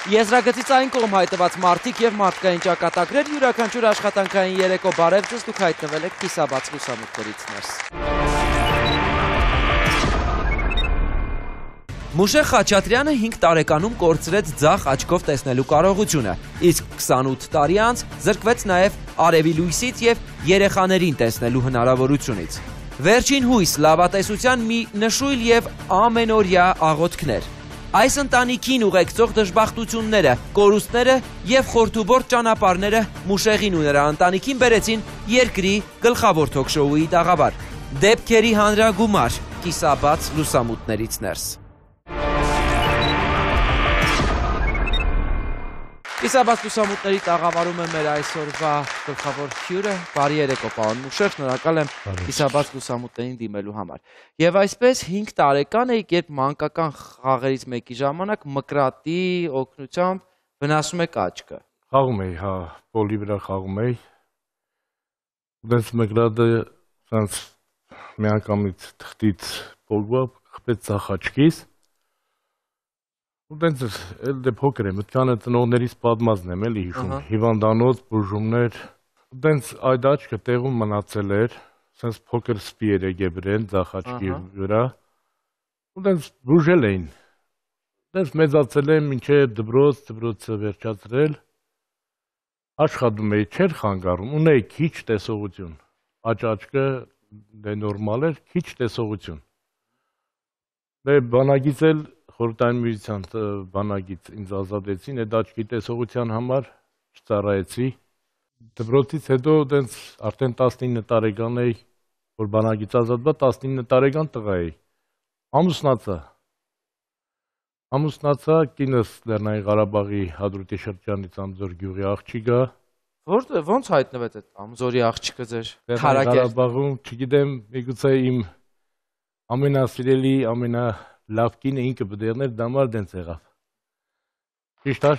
Եզրագծից այն կողմ հայտնված մարդիկ և մարդկային ճակատագրեր յուրաքանչյուր աշխատանքային երեկո բարև ձեզ, դուք հայտնվել եք կիսաբաց լուսամուտներից ներս։ Մուշեղ Խաչատրյանը 5 տարեկանում կորցրեց ձախ աչքով տեսնելու կարողությունը, իսկ 28 տարի անց զրկվեց նաև արևի լույսից և երեխաներին տեսնելու հնարավորությունից։ Վերջին հույս լավատեսության մի նշույլ և ամենօրյա աղոթքներ։ Այս ընտանիքին ուղեկցող դժբախտությունները, կորուստները և խորթուբորտ ճանապարհները Մուշեղին ու նրա ընտանիքին բերեցին երկրի գլխավոր թոքշոուի տաղավար։ Դեպքերի հանրագումար, կիսաբաց լուսամուտներից ներս։ Կիսաբաց լուսամուտների տաղավարում է մեր այսօրվա գլխավոր հյուրը, բարի երեկո պարոն Մուշեղ, շնորհակալ եմ կիսաբաց լուսամուտներին դիմելու համար։ Եվ այսպես 5 տարեկան եք, երբ մանկական խաղերից մեկի ժամանակ մկրատի օգնությամբ վնասում եք աչքը։ Խաղում էի, հա, պոլի վրա խաղում էի։ Դες մկրատը սենց միանգամից թղթից փողվա, խփեց ձախ աչքիս։ Ու դենց էլ դե փոքր եմ, մտքանը ծնողներից պատմածն եմ էլի հիշում, հիվանդանոց, բուժումներ, դենց այդ աչքը տեղում մնացել էր, սենց փոքր սպի էր եկել վրան ձախ աչքի վրա, ու դենց բուժել էին, դենց մեծացել եմ, մինչև դպրոցը վերջացրել, աշխատում էի, չէր խանգարում, ունեի քիչ տեսողություն, աչքը դե նորմալ էր, քիչ տեսողություն, դե բանագից էլ խորհրդային միության բանագից ինձ ազատեցին, այդ աչքի տեսողության համար չծառայեցի։ Դպրոցից հետո դենց արդեն 19 տարեկան էի, որ բանագից ազատվա, 19 տարեկան տղա էի։ Ամուսնացա, կինս Լեռնային Ղարաբաղի Հադրութի շրջանից Ամձոր գյուղի աղջիկ է։ Ոնց հայտնվեց այդ Ամձորի աղջիկը ձեր Լեռնային Ղարաբաղում, չգիտեմ, միգուցե իմ ամենասիրելի, լավ կինը ինքը բդերներ դամար դենց եղավ։ Ճիշտ է։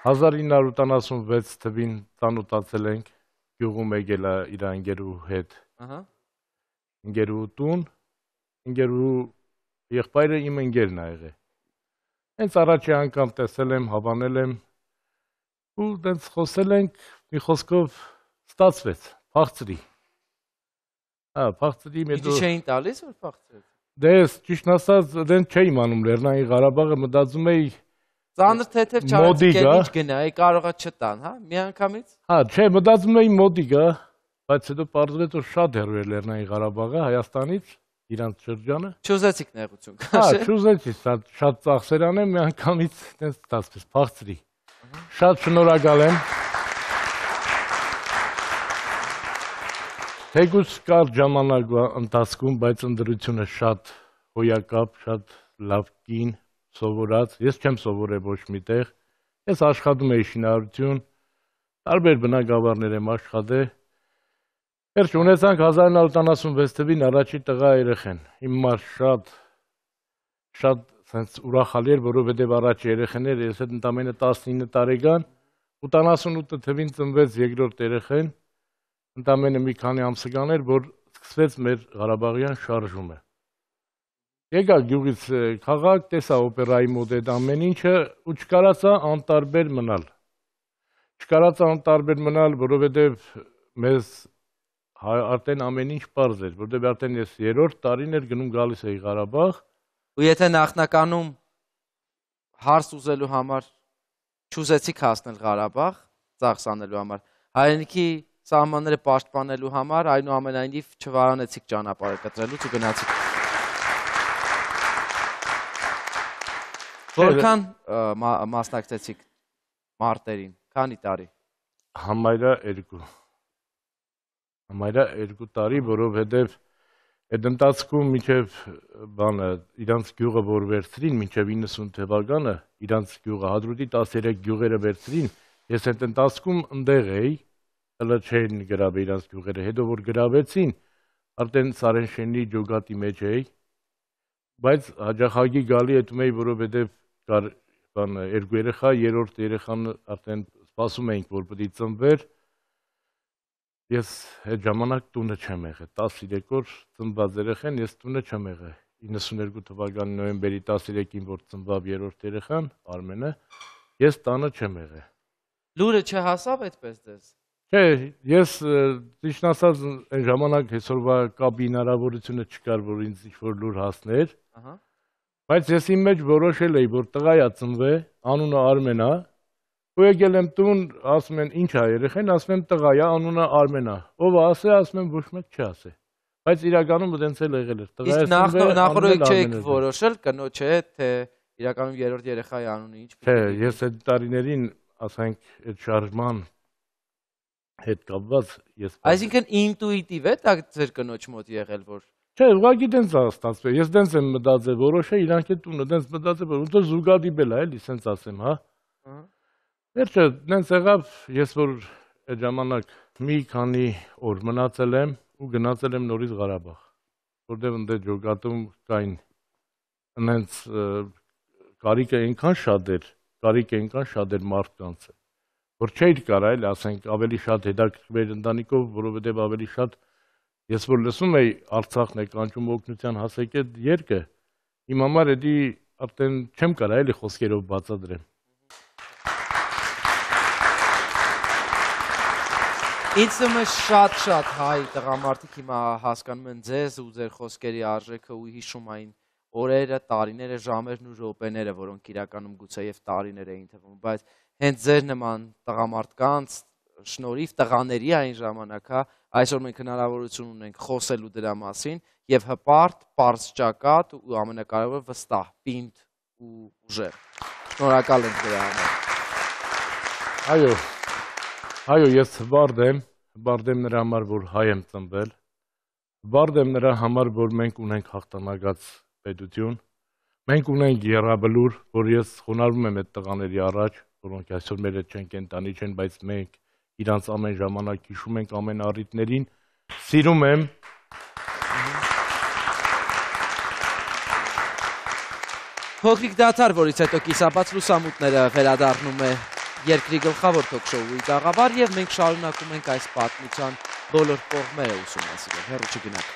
1976 թվին ծանոթացել ենք, գյուղում եկել է իր ընկերու հետ։ Ընկերու տուն, ընկերու եղբայրը իմ ընկերն է եղել։ Հենց առաջի անգամ տեսել եմ, հավանել եմ ու դենց խոսել ենք, մի խոսքով ստացվեց, փախցրի։ Փախցրի Իդի չէին տալիս, որ փախցրեց։ Դες, ճիշտն ասած, դենց չէի իմանում Լեռնային Ղարաբաղը, մտածում էի ծանր թեթև չարացիկ էլ ինչ գնայի, կարողա չտան, հա, միանգամից։ Հա, չէ, մտածում էի մոտիկ է, բայց հետո պարզվեց, որ շատ հեռու էր Լեռնային Ղարաբաղը Հայաստանից, իրանց շրջանը։ Չուզեցիք նեղություն քաշել։ Հա, չուզեցի, շատ ծախսեր անեմ, միանգամից դենց ստացվեց, փախցրի։ Շատ շնորհակալ եմ։ Թեկուզ կարճ ժամանակվա ընթացքում, բայց ընդրությունը շատ հոյակապ, շատ լավ կին, սովորած, ես չեմ սովորել ոչ միտեղ, ես աշխատում էի շինարարություն, տարբեր բնակավարներ եմ աշխատել, վերջ ունեցանք 1976 թվին առաջի տղա երեխեն, իմ մար շատ ուրախալի էր, որովհետև առաջի երեխեներ, ես հետ ընդամենը 19 տարեկան, 88 թվին ծնվեց երկրորդ երեխեն, ընդամենը մի քանի ամսական էր, որ սկսվեց մեր Ղարաբաղյան շարժումը։ Եկա գյուղից քաղաք, տեսա օպերայի մոտ այդ ամեն ինչը ու չկարացա անտարբեր մնալ, որովհետև մեզ արդեն ամեն ինչ պարզ էր, որովհետև արդեն ես 3-րդ տարին էր գնում գալիս էի Ղարաբաղ։ Ու եթե նախնականում հարս ուզելու համար չուզեցիք հասնել Ղարաբաղ, ծախս անելու համար, հայրենիքի սահմանները պաշտպանելու համար, այնուամենայնիվ չվարանեցիք ճանապարհը կտրելուց ու գնացիք։ Որքան մասնակցեցիք մարտերին, քանի տարի։ Համարյա 2 տարի, որովհետև այդ ընթացքում մինչև իրանց գյուղը որ վերցրին, մինչև 90 թվականը, իրանց գյուղը Հադրութի 13 գյուղերը վերցրին, ես այդ ընթացքում ընդեղ էի, հələ չէին գրավել իրանց գյուղերը, հետո որ գրավեցին, արդեն Սարենշենի ջոգատի մեջ էի, բայց հաջախագի գալի հետում էի, որովհետև կար երկու երեխա, երրորդ երեխան արդեն սպասում էինք, որ պետք է ծնվեր, Ես այդ ժամանակ տունը չեմ եղել, 13 օր ծնված երեխան, ես տունը չեմ եղել, 92 թվականի նոյեմբերի 13-ին, որ ծնվավ երրորդ երեխան, Արմենը, ես տանը չեմ եղել։ Լուրը չհասավ այդպես ձեզ։ Չէ, ես ճիշտ ասած այն ժամանակ այսօրվա կապի հնարավորությունը չկար, որ ինձ ինչ-որ լուր հասներ, բայց ես իմ մեջ որոշել էի, որ տղայա ծնվել, անունը Արմեն է, ու եկել եմ տուն, ասում են ինչ է երեխան, ասում եմ տղայա, անունը Արմեն է, ով ասե, ասում եմ ոչ մեկ չասե, բայց իրականում դենց էլ եղել էր, տղայա ծնվել, նախորդ չեք որոշել կնոջ հետ, թե իրականում երրորդ երեխայի անունը ինչ։ Չէ, ես այդ տարիներին, ասենք, այդ շարժման հետ կապված ես։ Այսինքն ինտուիտիվ է դա ձեր կնոջ մոտ եղել, որ։ Չէ, ուղղակի դենց է ստացվել։ Ես դենց եմ մտածել, որոշել իրանք այդ տունը դենց մտածել, որ ոնց զուգադիպել է, էլի, սենց ասեմ, հա։ Վերջը դենց եղավ, ես որ այդ ժամանակ մի քանի օր մնացել եմ ու գնացել եմ նորից Ղարաբաղ, որտեղ ընդ ջոկատում կային այնց կարիքը այնքան շատ էր մարդկանց, որ չէր կարա էլ ասենք ավելի շատ հետաքրքրվեր ընտանիքով, որովհետև ավելի շատ ես որ լսում էի Արցախն է կանչում օգնության հասեք այդ երգը, իմ համար էդի արդեն չեմ կարա էլի խոսքերով բացատրեմ։ Ինձ թվում է շատ հայ տղամարդիկ հիմա հասկանում են ձեզ ու ձեր խոսքերի արժեքը ու հիշում այն օրերը, տարիները, ժամերն ու րոպեները, որոնք իրականում գուցե եւ տարիներ էին թվում, բայց հենց ձեր նման տղամարդկանց շնորհիվ տղաների այն ժամանակ, հա, այսօր մենք հնարավորություն ունենք խոսելու դրա մասին եւ հպարտ, պարզ ճակատ ու ամենակարևորը վստահ, պինդ ու ուժեղ։ Շնորհակալ ենք դրա համար։ Այո, ես հպարտ եմ նրա համար, որ հայ եմ ծնվել, հպարտ եմ նրա համար, որ մենք ունենք հաղթանակած պետություն, մենք ունենք եռաբլուր, որ ես խոնարհվում եմ այդ տղաների առաջ, որոնք այսօր մեր հետ չեն, կենտանի չեն, բայց մենք իրանց ամեն ժամանակ հիշում ենք ամեն առիթներին, սիրում եմ։ Փոքրիկ դադար, որից հետո կիսաբաց լուսամուտները վերադառնում է երկրի գլխավոր թոք-շոուի տաղավար եւ մենք շարունակում ենք այս պատմության բոլոր կողմերը ուսումնասիրել, հեռու չգնաք։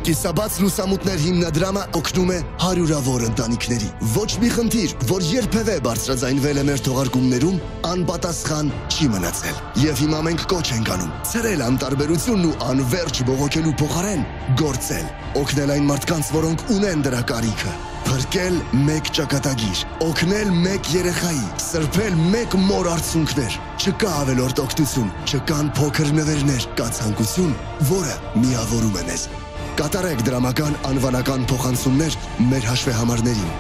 Կիսաբաց լուսամուտներ հիմնադրամը օգնում է հարյուրավոր ընտանիքների։ Ոչ մի խնդիր, որ երբևէ բարձրաձայնվել է մեր թողարկումներում, անպատասխան չի մնացել։ Եվ հիմա մենք կոչ ենք անում ցրել անտարբերությունն ու անվերջ բողոքելու փոխարեն գործել, օգնել այն մարդկանց, որոնք ունեն դրա կարիքը, փրկել մեկ ճակատագիր, օգնել մեկ երեխայի, սրբել մեկ մոր արցունքներ։ Չկա ավելորդ օգնություն, չկան փոքր նվերներ, կա ցանկություն, որը միավորում է մեզ։ Կատարեք դրամական անվանական փոխանցումներ մեր հաշվեհամարներին։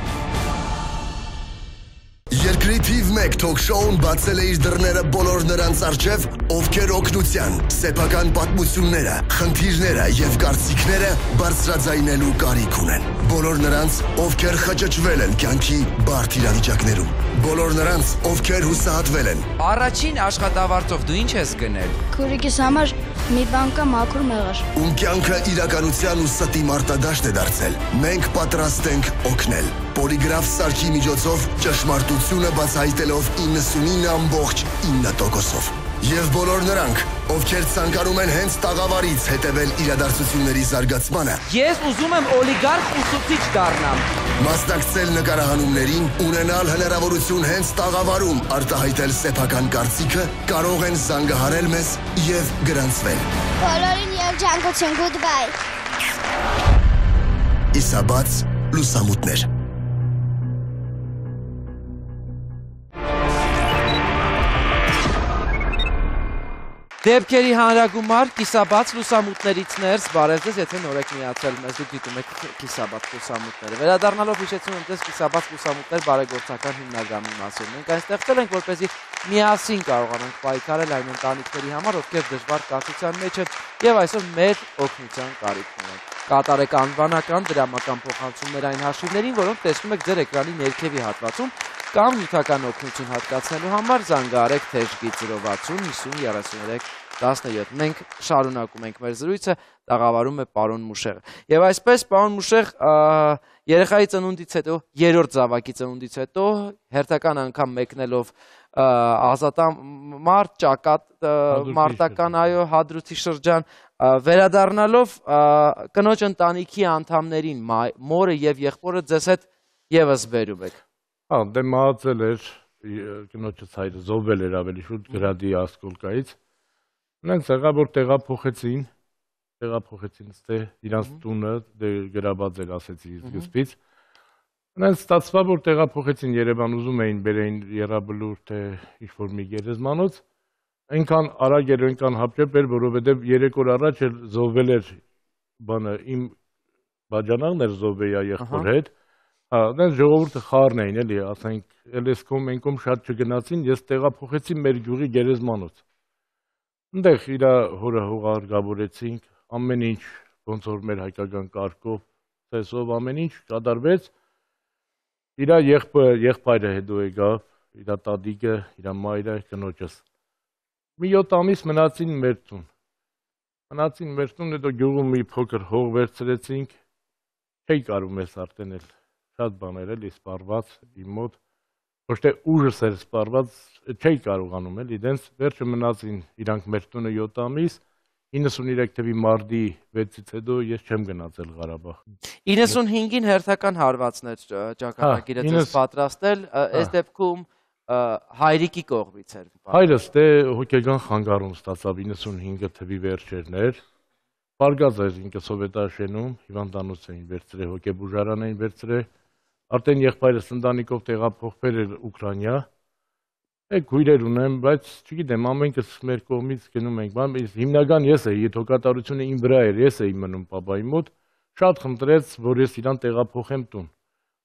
Երկրի թիվ 1 թոք-շոուն բացել է իր դռները բոլոր նրանց առջև, ովքեր օգնության, սեփական պատմությունները, խնդիրները եւ կարծիքները բարձրաձայնելու կարիք ունեն։ Բոլոր նրանց, ովքեր խճճվել են կյանքի բարդ իրավիճակներում։ Բոլոր նրանց, ովքեր հուսահատվել են։ Առաջին աշխատավարձով դու ինչ ես գնել։ Քուրիկիս համար մի բան կա մաքուր մեղր։ Ում կյանքը իրականության ու ստի մարտադաշտ է դարձել։ Մենք պատրաստ ենք օգնել։ Պոլիգրաֆ սարքի միջոցով ճշմարտությունը բացահայտելով 99.9%-ով։ Եվ բոլոր նրանք, ովքեր ցանկանում են հենց տաղավարից հետևել իրադարձությունների զարգացմանը։ Ես ուզում եմ օլիգարխ ուսուցիչ դառնամ։ Մասնակցել նկարահանումներին, ունենալ հնարավորություն հենց տաղավարում արտահայտել սեփական կարծիքը, կարող են զանգահարել մեզ եւ գրանցվել։ Բոլորին երջանկություն, goodbye։ Կիսաբաց լուսամուտներ։ Դեպքերի հանրագումար, կիսաբաց լուսամուտներից ներս, բարև ձեզ, եթե նոր եք միացել մեզ, դուք դիտում եք կիսաբաց լուսամուտները։ Վերադառնալով հիշեցնում եմ ձեզ կիսաբաց լուսամուտներ բարեգործական հիմնադրամի մասին։ Մենք այն ստեղծել ենք, որպեսզի միասին կարողանանք պայքարել այն ընտանիքների համար, ովքեր դժվար կացության մեջ են եւ այսօր մեր օգնության կարիք ունեն։ Կատարեք անվանական դրամական փոխանցումներ այն հաշիվներին, որոնք տեսնում եք ձեր էկրանի ներքևի հատվածում, կամ նյութական օգնություն հատկացնելու համար զանգահարեք թեժգի 060 50 33 17։ Մենք շարունակում ենք մեր զրույցը, տաղավարում է պարոն Մուշեղը։ Եվ այսպես, պարոն Մուշեղ, երեխայի ծնունդից հետո, երրորդ զավակի ծնունդից հետո, հերթական անգամ մեկնելով Ազատամարտ, ճակատ մարտական այո հադրութի շրջան վերադառնալով կնոջ ընտանիքի անդամներին մորը եւ եղբորը ձեզ հետ եւս բերում եք։ Հա, դե մահացել էր կնոջս հայրը զոհվել էր ավելի շուտ գրադի ասկոլկայից։ Նրանց եղավ որ տեղափոխեցին ստե իրանց տունը դե գրաբաց էր ասեցի սկզբից։ Նրանց ստացվա որ տեղափոխեցին Երևան ուզում էին բերեին Եռաբլուր թե ինչ-որ մի գերեզմանոց, այնքան արագ էր այնքան հապճեպ էր, որովհետև 3 օր առաջ էլ զոհվել էր բանը իմ բաժանաղն էր զոհվեյա եղբոր հետ։ Հա, դες ժողովուրդը խառն էին էլի, ասենք, էլեսկոմ ենկոմ շատ չգնացին, ես տեղափոխեցի մեր գյուղի գերեզմանոց։ Այնտեղ իր հորը հողարգավորեցինք, ամեն ինչ ոնց որ մեր հայկական կարգով, ծեսով ամեն ինչ կատարվեց։ Իր եղբայրը հետո եկավ, իր տատիկը, իր մայրը, կնոջս։ Մի 7 ամիս մնացին մեր տուն։ Հետո գյուղում մի փոքր հող վերցրեցինք, չէի կարում ես արդեն էլ շատ բաներ էլի սպառված իմ մոտ, ոչ թե ուժս էր սպառված, չէի կարողանում էլի, դենց վերջը մնացին իրանք մեր տունը 7 ամիս, 93 թվականի մարտի 6-ից հետո ես չեմ գնացել Ղարաբաղ։ 95-ին հերթական հարվածներ ճակատագիրը ձեզ պատրաստել, այս դեպքում հայրիկի կողմից էր։ Հայրս դե հոգեգան խանգարում ստացավ 95 թվականի վերջերն էր։ Պարգազ էր ինքը սովետաշենում, հիվանդանոց էին վերցրել, հոգեբուժարան էին վերցրել։ Արդեն եղբայրս ընտանիքով տեղափոխվել էր Ուկրաինա։ Քույրեր ունեմ, բայց չգիտեմ, ամենքս մեր կողմից գնում ենք, բայց հիմնական ես էի, հոգատարությունը իմ վրա էր, ես էի մնում պապայի մոտ, շատ խնդրեց, որ ես իրան տեղափոխեմ տուն։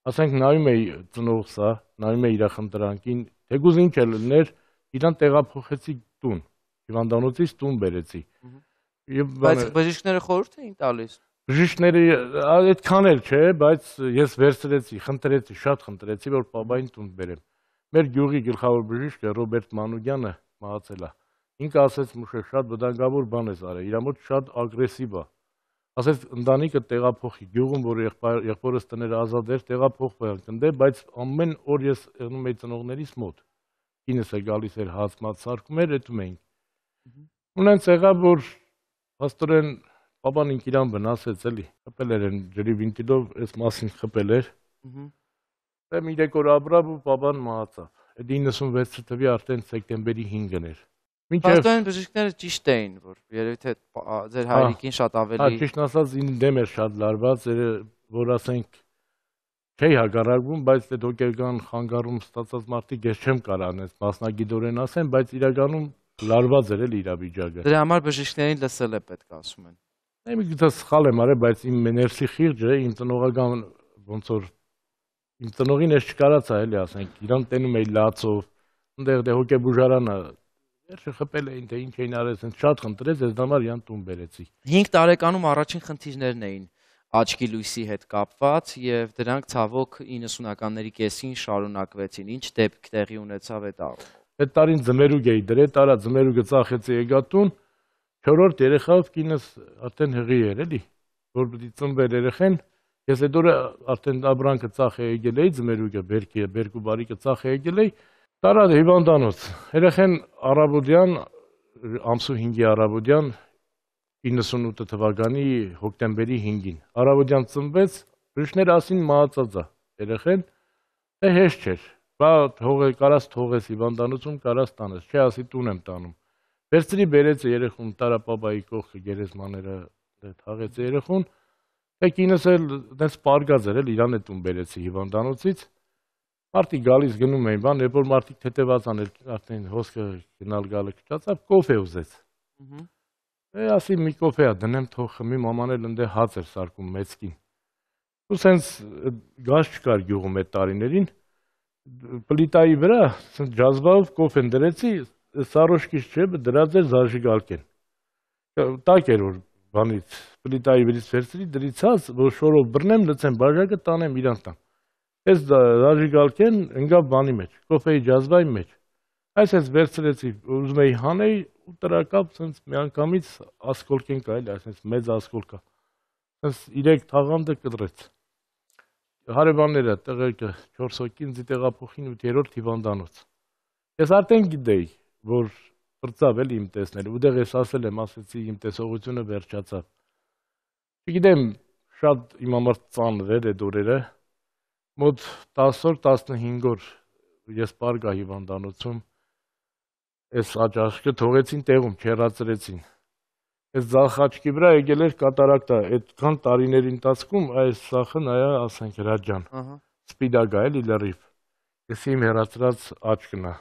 Ասենք նայում էի ծնողսա, նայում էի իր խնդրանքին, թեկուզ ինչ էլ լիներ, իրան տեղափոխեցի տուն, հիվանդանոցից տուն բերեցի։ Բայց բժիշկները խորհուրդ էին տալիս։ Բժիշկները այդքան էլ չէ, բայց ես վերցրեցի, խնդրեցի, շատ խնդրեցի, որ պապային տուն բերեմ։ Մեր գյուղի գլխավոր բժիշկը Ռոբերտ Մանուկյանը մահացել է։ Ինքը ասեց մուշե շատ վտանգավոր բան ես արել, իր մոտ շատ ագրեսիվ է։ Ասեց ընտանիքը տեղափոխի գյուղում, որ եղբորս տները ազատ էր, տեղափոխվել կնդե, բայց ամեն օր ես եղնում էի ծնողներիս մոտ։ Կինս է գալիս էր հացմած սարքում էր, էտում էինք։ Ունենց եղավ որ փաստորեն պապան ինք իրան վնասեց էլի, խփել էր ջրի վինտիլով, այս մասին խփել էր։ Դե 3 օր ապրավ ու պապան մահացավ։ Այդ 96 թվականի արդեն սեպտեմբերի 5-ն էր։ Փաստորեն բժիշկները ճիշտ էին, որ երևի թե ձեր հայրիկին շատ ավելի։ Ճիշտ ասած ինձ դեմ էր շատ լարված, որ ասենք չէի հակառակվում, բայց այդ հոգեգան խանգարում ստացած մարդիկ ես չեմ կարող անես մասնագիտորեն ասեմ, բայց իրականում լարված էր էլի իրավիճակը։ Դրա համար բժիշկներին լսել է պետք ասում են։ Մի քիչ սխալ եմ արել, բայց իմ ներսի խիղճը, իմ ծնողական ոնց որ իմ ծնողին ես չկարացա էլի ասենք, իրան տենում էի լացով, այնտեղ դե հոգեբուժարանը վերջը խփել էին, թե ինչ էին արել, ասենց շատ խնդրեց, ես դամար իրան տուն բերեցի։ 5 տարեկանում առաջին խնդիրներն էին աչքի լույսի հետ կապված եւ դրանք ցավոք 90-ականների կեսին շարունակվեցին։ Ինչ դեպք տեղի ունեցավ այդ առումով։ Այդ տարին ձմերուկ էի դրել, տարա ձմերուկը ծախեցի եկա տուն, 4-րդ երեխայով կինս արդեն հղի էր էլի, որ պիտի ծնվեր երեխեն, ես այդ օրը արդեն աբրանքը ծախ է եկել էի, ձմերուկը բերկու բարիկը ծախ է եկել էի, տարա հիվանդանոց, երեխեն առավոտյան, ամսու 5-ի առավոտյան 98 թվականի հոկտեմբերի 5-ին, առավոտյան ծնվեց, բժիշկները ասին մահացած է երեխեն, դե հեշտ չէր, բա կարաս թողես հիվանդանոցում, կարաս տանես, չէ ասի տուն եմ տանում, վերցրի բերեց երեխուն, տարա պապայի կողքը գերեզմաները թաղեց երեխուն, կինս էլ դες պարգազ էր էլ իրան է տուն բերեցի հիվանդանոցից, մարդիկ գալիս գնում էին բան, երբ որ մարդիկ թեթևած անել, արդեն հոսքը գնալ գալը քչացավ, կոֆե ուզեց։ Ասի մի կոֆե դնեմ թող խմի, մաման էլ ընդ հաց էր սարքում մեծքին։ Ու սենց գազ չկար գյուղում այդ տարիներին, պլիտայի վրա ջազվով կոֆեն դրեցի, սարոշկից չէ, դրած էր զաժիգալկեն։ Տակ էր որ բանից, պլիտայի վրից վերցրի, դրիցած, որ շորով բռնեմ, լցեմ բաժակը տանեմ իրանց տան։ Այս զաժիգալկեն ընկավ բանի մեջ, կոֆեի ջազվայի մեջ։ Այսպես վերցրեցի, ուզում էի հանեի ու տրակապ սենց միանգամից ասկոլկեն կա էլի, այսպես մեծ ասկոլկա։ Սենց 3 թաղանթը կտրեց։ Հարևանները տեղեկը 4 հոգի ինձ տեղափոխին 8-րդ հիվանդանոց։ Ես արդեն գիտեի, որ բրծավ էլ իմ տեսնել, ուդեղ ես ասել եմ, ասեցի իմ տեսողությունը վերջացավ։ Չգիտեմ, շատ իմ համար ծանր էր այդ օրերը, մոտ 10 օր, 15 օր ես պարգա հիվանդանոցում, ես աչաշկը թողեցին տեղում, չերացրեցին։ Ես ձախ աչքի վրա եկել էր կատարակտա, այդքան տարիների ընթացքում այս սախը նայա, ասենք հրաջան, սպիդագա էլի լրիվ, ես իմ հերացրած աչքն է։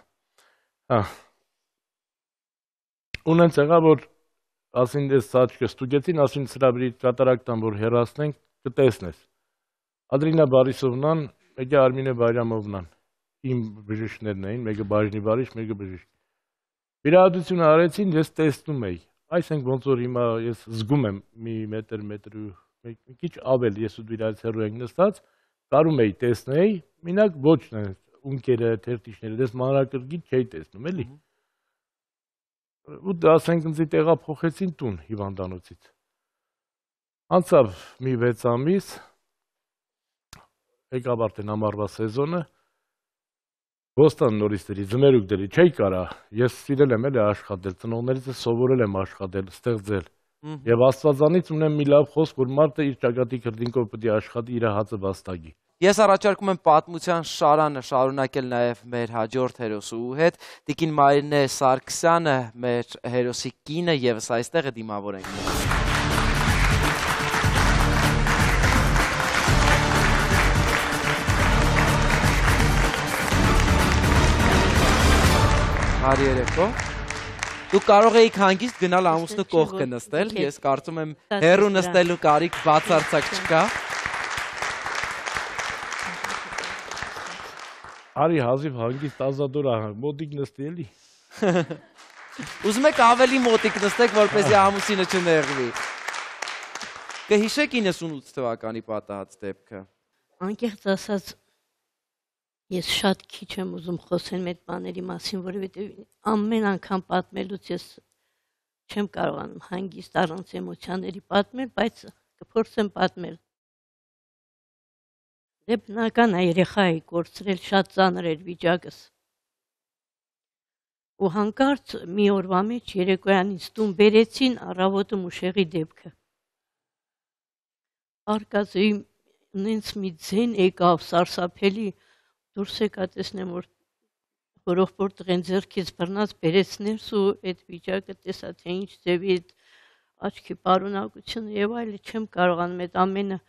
Ունենց եղա, որ ասին ես աչքը ստուգեցին, ասին սրաբրի կատարակտան, որ հերացնենք, կտեսնես։ Ադրինա Բարիսովնան, մեկը Արմինե Բայրամովնան, իմ բժիշկներն էին, մեկը բաժնի վարիչ, մեկը բժիշկ։ Վիրահատությունը արեցին, ես տեսնում էի։ Այսինքն ոնց որ հիմա ես զգում եմ մի մետր ու մի քիչ ավել, ես ու դիրայից հեռու ենք նստած, կարում էի տեսնեի, մենակ ոչ ունկերը, թերթիշները, դες մանրակրկիտ չէի տեսնում, էլի։ Ու ասենք ինձ տեղափոխեցին տուն հիվանդանոցից։ Անցավ մի 6 ամիս, եկավ արդեն ամառվա սեզոնը, Ոստան նորիստերի, ձմերուկ դերի, չէի կարա, ես սիրել եմ էլի աշխատել, ծնողներից սովորել եմ աշխատել, ստեղծել, և աստվածանից ունեմ մի լավ խոսք, որ մարդը իր ճակատի քրտինքով պետք է աշխատի իր հացը վաստակի։ Ես առաջարկում եմ պատմության շարանը շարունակել նաև մեր հաջորդ հերոսու հետ, տիկին Մարինե Սարգսյանը, մեր հերոսի կինը ևս այստեղ է, դիմավոր ենք։ Հարի երեկո։ Դուք կարող էիք հանգիստ գնալ ամուսնու կողքը նստել, ես կարծում եմ հեռու նստելու կարիք բացարձակ չկա։ Արի հազիվ հանգիստ ազատոր ահանք, մոտիկ նստի էլի։ Ուզում եք ավելի մոտիկ նստեք, որպեսզի ամուսինը չնեղվի։ Կհիշեք 98 թվականի պատահած դեպքը։ Անկեղծ ասած, ես շատ քիչ եմ ուզում խոսել մեծ բաների մասին, որովհետև ամեն անգամ պատմելուց ես չեմ կարողանում հանգիստ առանց էմոցիաների պատմել, բայց կփորձեմ պատմել։ Դե բնական է, երեխա էի կորցրել, շատ ծանր էր վիճակս։ Ու հանկարծ մի օրվա մեջ երեկոյան ինձ տուն բերեցին առավոտը Մուշեղի դեպքը։ Արկածի ինձ մի ձեն եկավ սարսափելի, դուրս եկա տեսնեմ, որ հորողբոր տղեն ձեռքից բռնած բերեց ներս ու այդ վիճակը տեսա, թե ինչ ձևի այդ աչքի պարունակությունը եւ այլը չեմ կարողանում այդ ամենը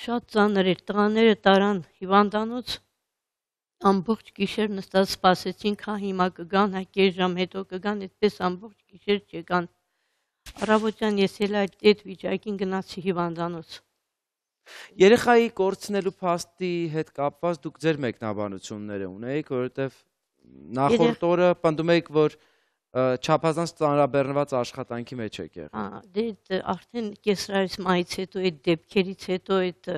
շատ ծանր էր, տղաները տարան հիվանդանոց, ամբողջ գիշեր նստած սպասեցին, քան հիմա կգան, կես ժամ հետո կգան, այդպես ամբողջ գիշեր չեկան։ Առավոտյան ես էլ այդ վիճակին գնացի հիվանդանոց։ Երեխայի կորցնելու փաստի հետ կապված դուք ձեր մեկնաբանությունները ունեիք, որովհետև նախորդ օրը պնդում եք, որ չափազանց ծանրաբեռնված աշխատանքի մեջ եք եղել։ Դե արդեն կեսրայից մայից հետո այդ դեպքերից հետո այդ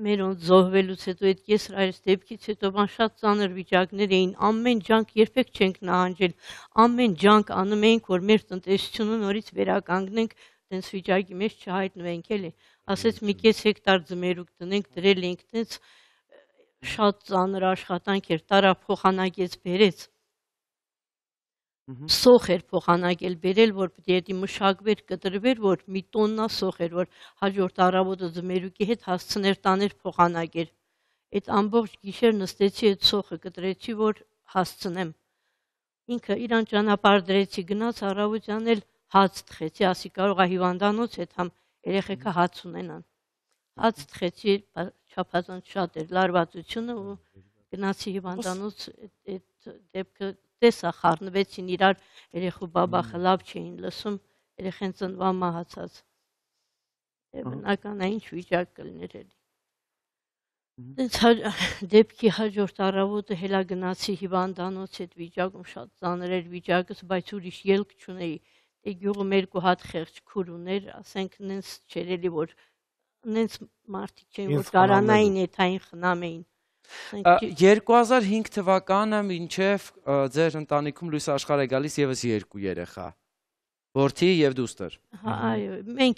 մերոնց զոհվելուց հետո այդ կեսրայից դեպքից հետո բան շատ ծանր վիճակներ էին, ամեն ջանք երբեք չենք նահանջել, ամեն ջանք անում էինք, որ մեր տնտեսությունը նորից վերականգնենք, տենց վիճակի մեջ չհայտնվենք էլի, ասեց մի կես հեկտար ձմերուկ տնենք, դրել էինք տենց շատ ծանր աշխատանք էր, տարա փոխանակեց բերեց, սոխ էր փոխանակել բերել, որ պետք է մշակվեր, կտրվեր, որ մի տոննա սոխ էր, որ հաջորդ առավոտը ձմերուկի հետ հասցներ տաներ փոխանակեր, այդ ամբողջ գիշեր նստեցի այդ սոխը կտրեցի, որ հասցնեմ, ինքը իրան ճանապարհ դրեցի, գնաց առավոտյան էլ հաց թխեցի, ասի կարող է հիվանդանոց հետ համ երեխեքը հաց ունենան։ Հաց թխեցի, չափազանց շատ էր լարվածությունը ու գնացի հիվանդանոց այդ դեպքը տեսա խառնվեցին իրար, երեխու բաբախը լավ չէին լսում, երեխեն ծնվան մահացած։ Բնական է ինչ վիճակ կլներ էլի։ Դեպքի հաջորդ առավոտը հելա գնացի հիվանդանոց այդ վիճակում շատ ծանր էր վիճակս, բայց ուրիշ ելք չունեի։ Գյուղում 2 հատ խեղճ քուր ուներ, ասենք նենց չէր էլի, որ նենց մարդիկ չէին, որ կարանային էթային խնամեին։ 2005 թվականը մինչև ձեր ընտանիքում լույս աշխարհ է գալիս ևս 2 երեխա։ Որդի եւ դուստր։ Այո, մենք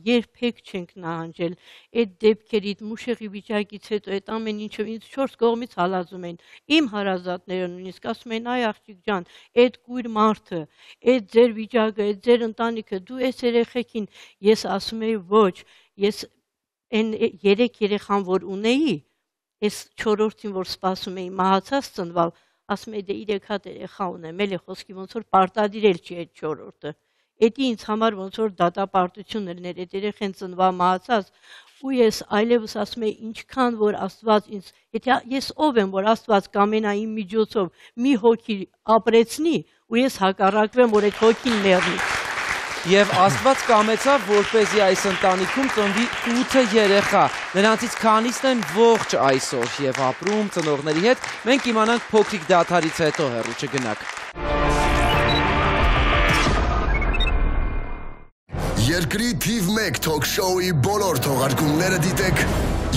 երբեք չենք նահանջել այդ դեպքերից, մուշեղի վիճակից հետո այդ ամեն ինչը ինձ 4 կողմից հալածում են։ Իմ հարազատները նույնիսկ ասում են՝ «Այ աղջիկ ջան, այդ կույր մարդը, այդ ձեր վիճակը, այդ ձեր ընտանիքը, դու այս երեխեքին», ես ասում եի՝ ոչ, ես այն 3 երեխան, որ ունեի, այս 4-րդին, որ սպասում էի մահացած ծնվալ, ասում էի՝ «Դե 3 հատ երեխա ունեմ, էլի խոսքի ոնց որ պարտադիր էլ չի այդ 4-րդը»։ Էդի ինձ համար ոնց որ դատապարտություն էր այդ երեխեն ծնվա մահացած, ու ես այլևս ասում էի ինչքան որ Աստված ինձ, եթե ես ով եմ, որ Աստված կամենա իմ միջոցով մի հոգի ապրեցնի, ու ես հակառակվեմ, որ այդ հոգին մեռնի։ Եվ Աստված կամեցավ, որպեսզի այս ընտանիքում ծնվի 8 երեխա։ Նրանցից քանիսն են ողջ այսօր եւ ապրում ծնողների հետ։ Մենք իմանանք փոքրիկ դադարից հետո, հեռու չգնաք։ Երկրի թիվ 1 թոք-շոուի բոլոր թողարկումները դիտեք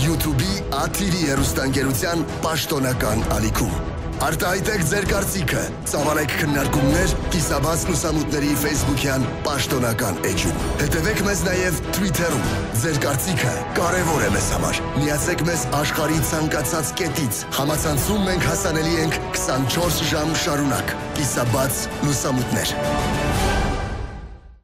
YouTube-ի Աթիրի հեռուստաընկերության պաշտոնական ալիքում։ Արտահայտեք ձեր կարծիքը, ծավալեք քննարկումներ կիսաբաց լուսամուտների Facebook-յան պաշտոնական էջում։ Հետևեք մեզ նաև Twitter-ում։ Ձեր կարծիքը կարևոր է մեզ համար։ Միացեք մեզ աշխարհի ցանկացած կետից։ Համացանցում մենք հասանելի ենք 24 ժամ շարունակ։ Կիսաբաց լուսամուտներ։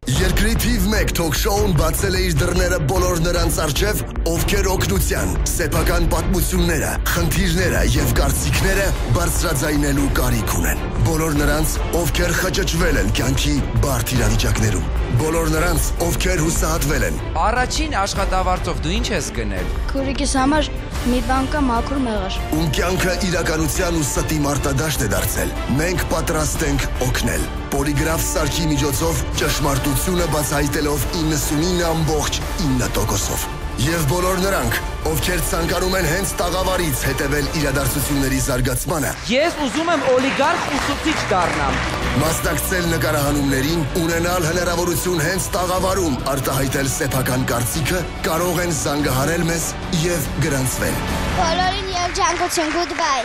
Երկրի թիվ 1 թոք-շոուն բացել է իր դռները բոլոր նրանց առջև, ովքեր օգնության, սեփական պատմությունները, խնդիրները եւ կարծիքները բարձրաձայնելու կարիք ունեն։ Բոլոր նրանց, ովքեր խճճվել են կյանքի բարդ իրավիճակներում։ Բոլոր նրանց, ովքեր հուսահատվել են։ Առաջին աշխատավարձով դու ինչ ես գնել։ Քուրիկիս համար մի բան կա մաքուր մեղր։ Ում կյանքը իրականության ու ստի մարտադաշտ է դարձել։ Մենք պատրաստ ենք օգնել։ Պոլիգրաֆ սարքի միջոցով ճշմարտությունը բացահայտելով 99.9%-ով։ Եվ բոլոր նրանք, ովքեր ցանկանում են հենց տաղավարից հետևել իրադարձությունների զարգացմանը։ Ես ուզում եմ օլիգարխ ուսուցիչ դառնամ։ Մասնակցել նկարահանումներին, ունենալ հնարավորություն հենց տաղավարում արտահայտել սեփական կարծիքը, կարող են զանգահարել մեզ եւ գրանցվել։ Բոլորին եւ ջանկություն, goodbye։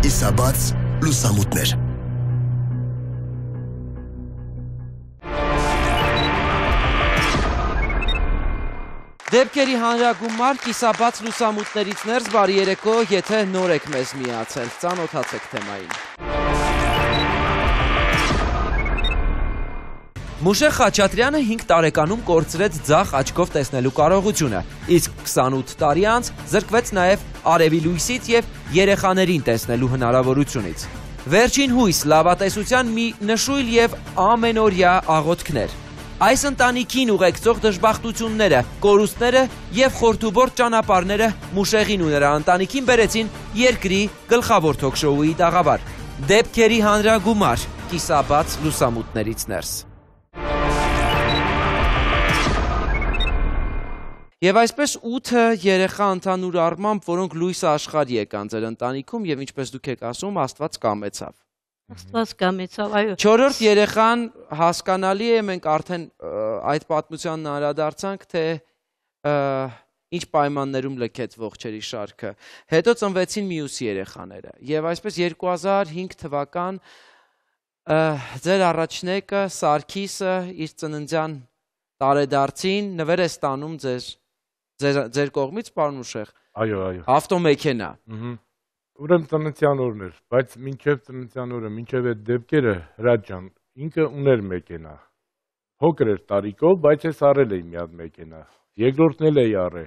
Կիսաբաց լուսամուտներ։ Դեպքերի հանրագումար կիսաբաց լուսամուտներից ներս բարի երեկո, եթե նոր եք մեզ միացել, ծանոթացեք թեմային։ Մուշեղ Խաչատրյանը 5 տարեկանում կորցրեց ձախ աչքով տեսնելու կարողությունը, իսկ 28 տարի անց զրկվեց նաև արևի լույսից եւ երեխաներին տեսնելու հնարավորությունից։ Վերջին հույս լավատեսության մի նշույլ եւ ամենօրյա աղոթքներ։ Այս ընտանիքին ուղեկցող դժբախտությունները, կորուստները եւ խորթուբորտ ճանապարհները Մուշեղին ու նրա ընտանիքին բերեցին երկրի գլխավոր թոք-շոուի տաղավար։ Դեպքերի հանրագումար կիսաբաց լուսամուտներից ներս։ Եվ այսպես 8 երեխա ընդհանուր առմամբ, որոնք լույսը աշխարհի եկան ձեր ընտանիքում եւ ինչպես դուք եք ասում, Աստված կամեցավ։ Աստված կամեցավ, այո։ 4-րդ երեխան հասկանալի է, մենք արդեն այդ պատմությանն անդրադարձանք, թե ինչ պայմաններում լքեց ողջերի շարքը։ Հետո ծնվեցին մյուս երեխաները։ Եվ այսպես 2005 թվական ձեր առաջնեկը Սարգիսը իր ծննդյան տարեդարձին նվեր է ստանում ձեր կողմից, պարոն Մուշեղ։ Այո, այո։ Ավտոմեքենա։ Ուրեմն ծննդյան օրն էր, բայց մինչև ծննդյան օրը, մինչև այդ դեպքերը Հրաչ ջան, ինքը ուներ մեքենա։ Փոքր էր տարիքով, բայց ես առել էի մի հատ մեքենա։ Երկրորդն էլ էի առել։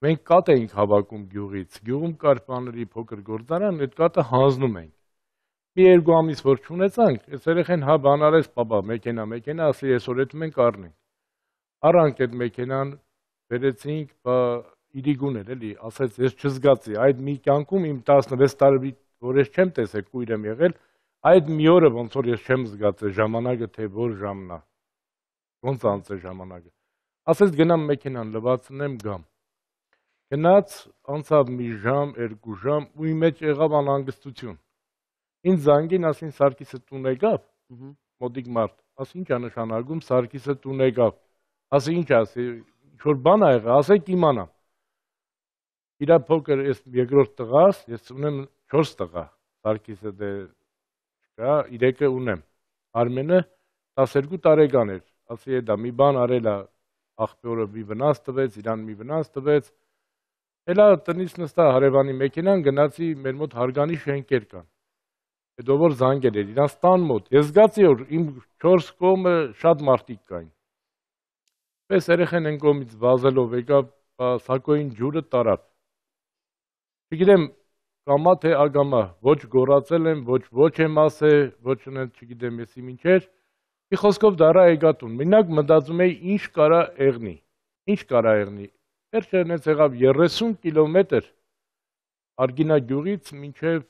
Մենք կատ էինք հավաքում գյուղից։ Գյուղում կար բաների փոքր գործարան, այդ կատը հանձնում ենք։ Մի 2 ամիս որ չունեցանք, այս երեխեն հա բան արես, պապա, մեքենա, ասի այսօր այդ մենք առնենք։ Առանք այդ մեքենան, վերեցինք, իրիգուն էր, էլի, ասեց, ես չզգացի, այդ մի կյանքում իմ 16 տարի, որ ես չեմ տեսել, կույր եմ եղել, այդ մի օրը ոնց որ ես չեմ զգացել ժամանակը, թե որ ժամն է, ոնց անց է ժամանակը, ասեց գնամ մեքենան լվացնեմ գամ, գնաց, անցավ մի ժամ, 2 ժամ, ու իմ մեջ եղավ անհանգստություն, ինձ զանգին, ասին Սարգիսը տուն եկավ, մոտիկ մարդ, ասի ինչ է նշանակում, Սարգիսը տուն եկավ, ասի ինչ ասի, ինչ-որ բան ա եղել, ասեք իմանամ, իրա փոքր ես երկրորդ տղաս, ես ունեմ 4 տղա, Սարգիսը դե չկա, 3-ը ունեմ։ Արմենը 12 տարեկան էր, ասի դա մի բան արել է, աղբյուրը մի վնաս տվեց, իրան մի վնաս տվեց։ Հելա տնից նստա հարևանի մեքենան գնացի մեր մոտ հարգանի շենքեր կան։ Հետո որ զանգել էր իրանց տան մոտ։ Ես զգացի որ իմ 4 կողմը շատ մարդիկ կային։ Պես երեխեն են կողմից վազելով եկավ սակոյին ջուրը տարավ։ Չգիտեմ կամա թե ագամա, ոչ գորացել եմ, ոչ եմ ասել, ոչ չգիտեմ եսի մինչեր։ Մի խոսքով դարա եկատուն։ Մենակ մտածում էի ինչ կարա եղնի։ Ինչ կարա եղնի։ Վերջը հենց եղավ 30 կիլոմետր Արգինա գյուղից մինչև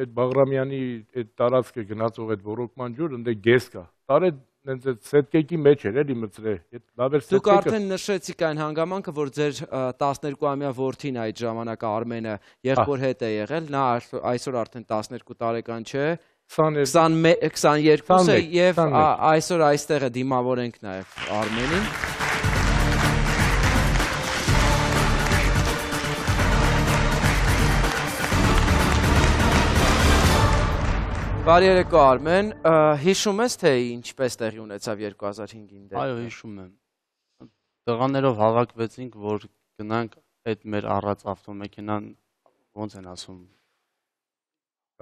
այդ Բաղրամյանի այդ տարածքը գնացող այդ ոռոգման ջուր ընդ գես կա։ Տարե հենց այդ սետկեկի մեջ էր էլի մծրե։ Այդ լավ էր սետկեկը։ Դուք արդեն նշեցիք այն հանգամանքը, որ ձեր 12-ամյա որդին այդ ժամանակ Արմենը եղբոր հետ է եղել, նա այսօր արդեն 12 տարեկան չէ, 22 է եւ այսօր այստեղ է դիմավոր ենք նաեւ Արմենին։ Բարի երեկո Արմեն, հիշում ես թե ինչպես տեղի ունեցավ 2005-ին դեպքը։ Այո, հիշում եմ։ Տղաներով հավաքվեցինք, որ գնանք այդ մեր առած ավտոմեքենան ոնց են ասում։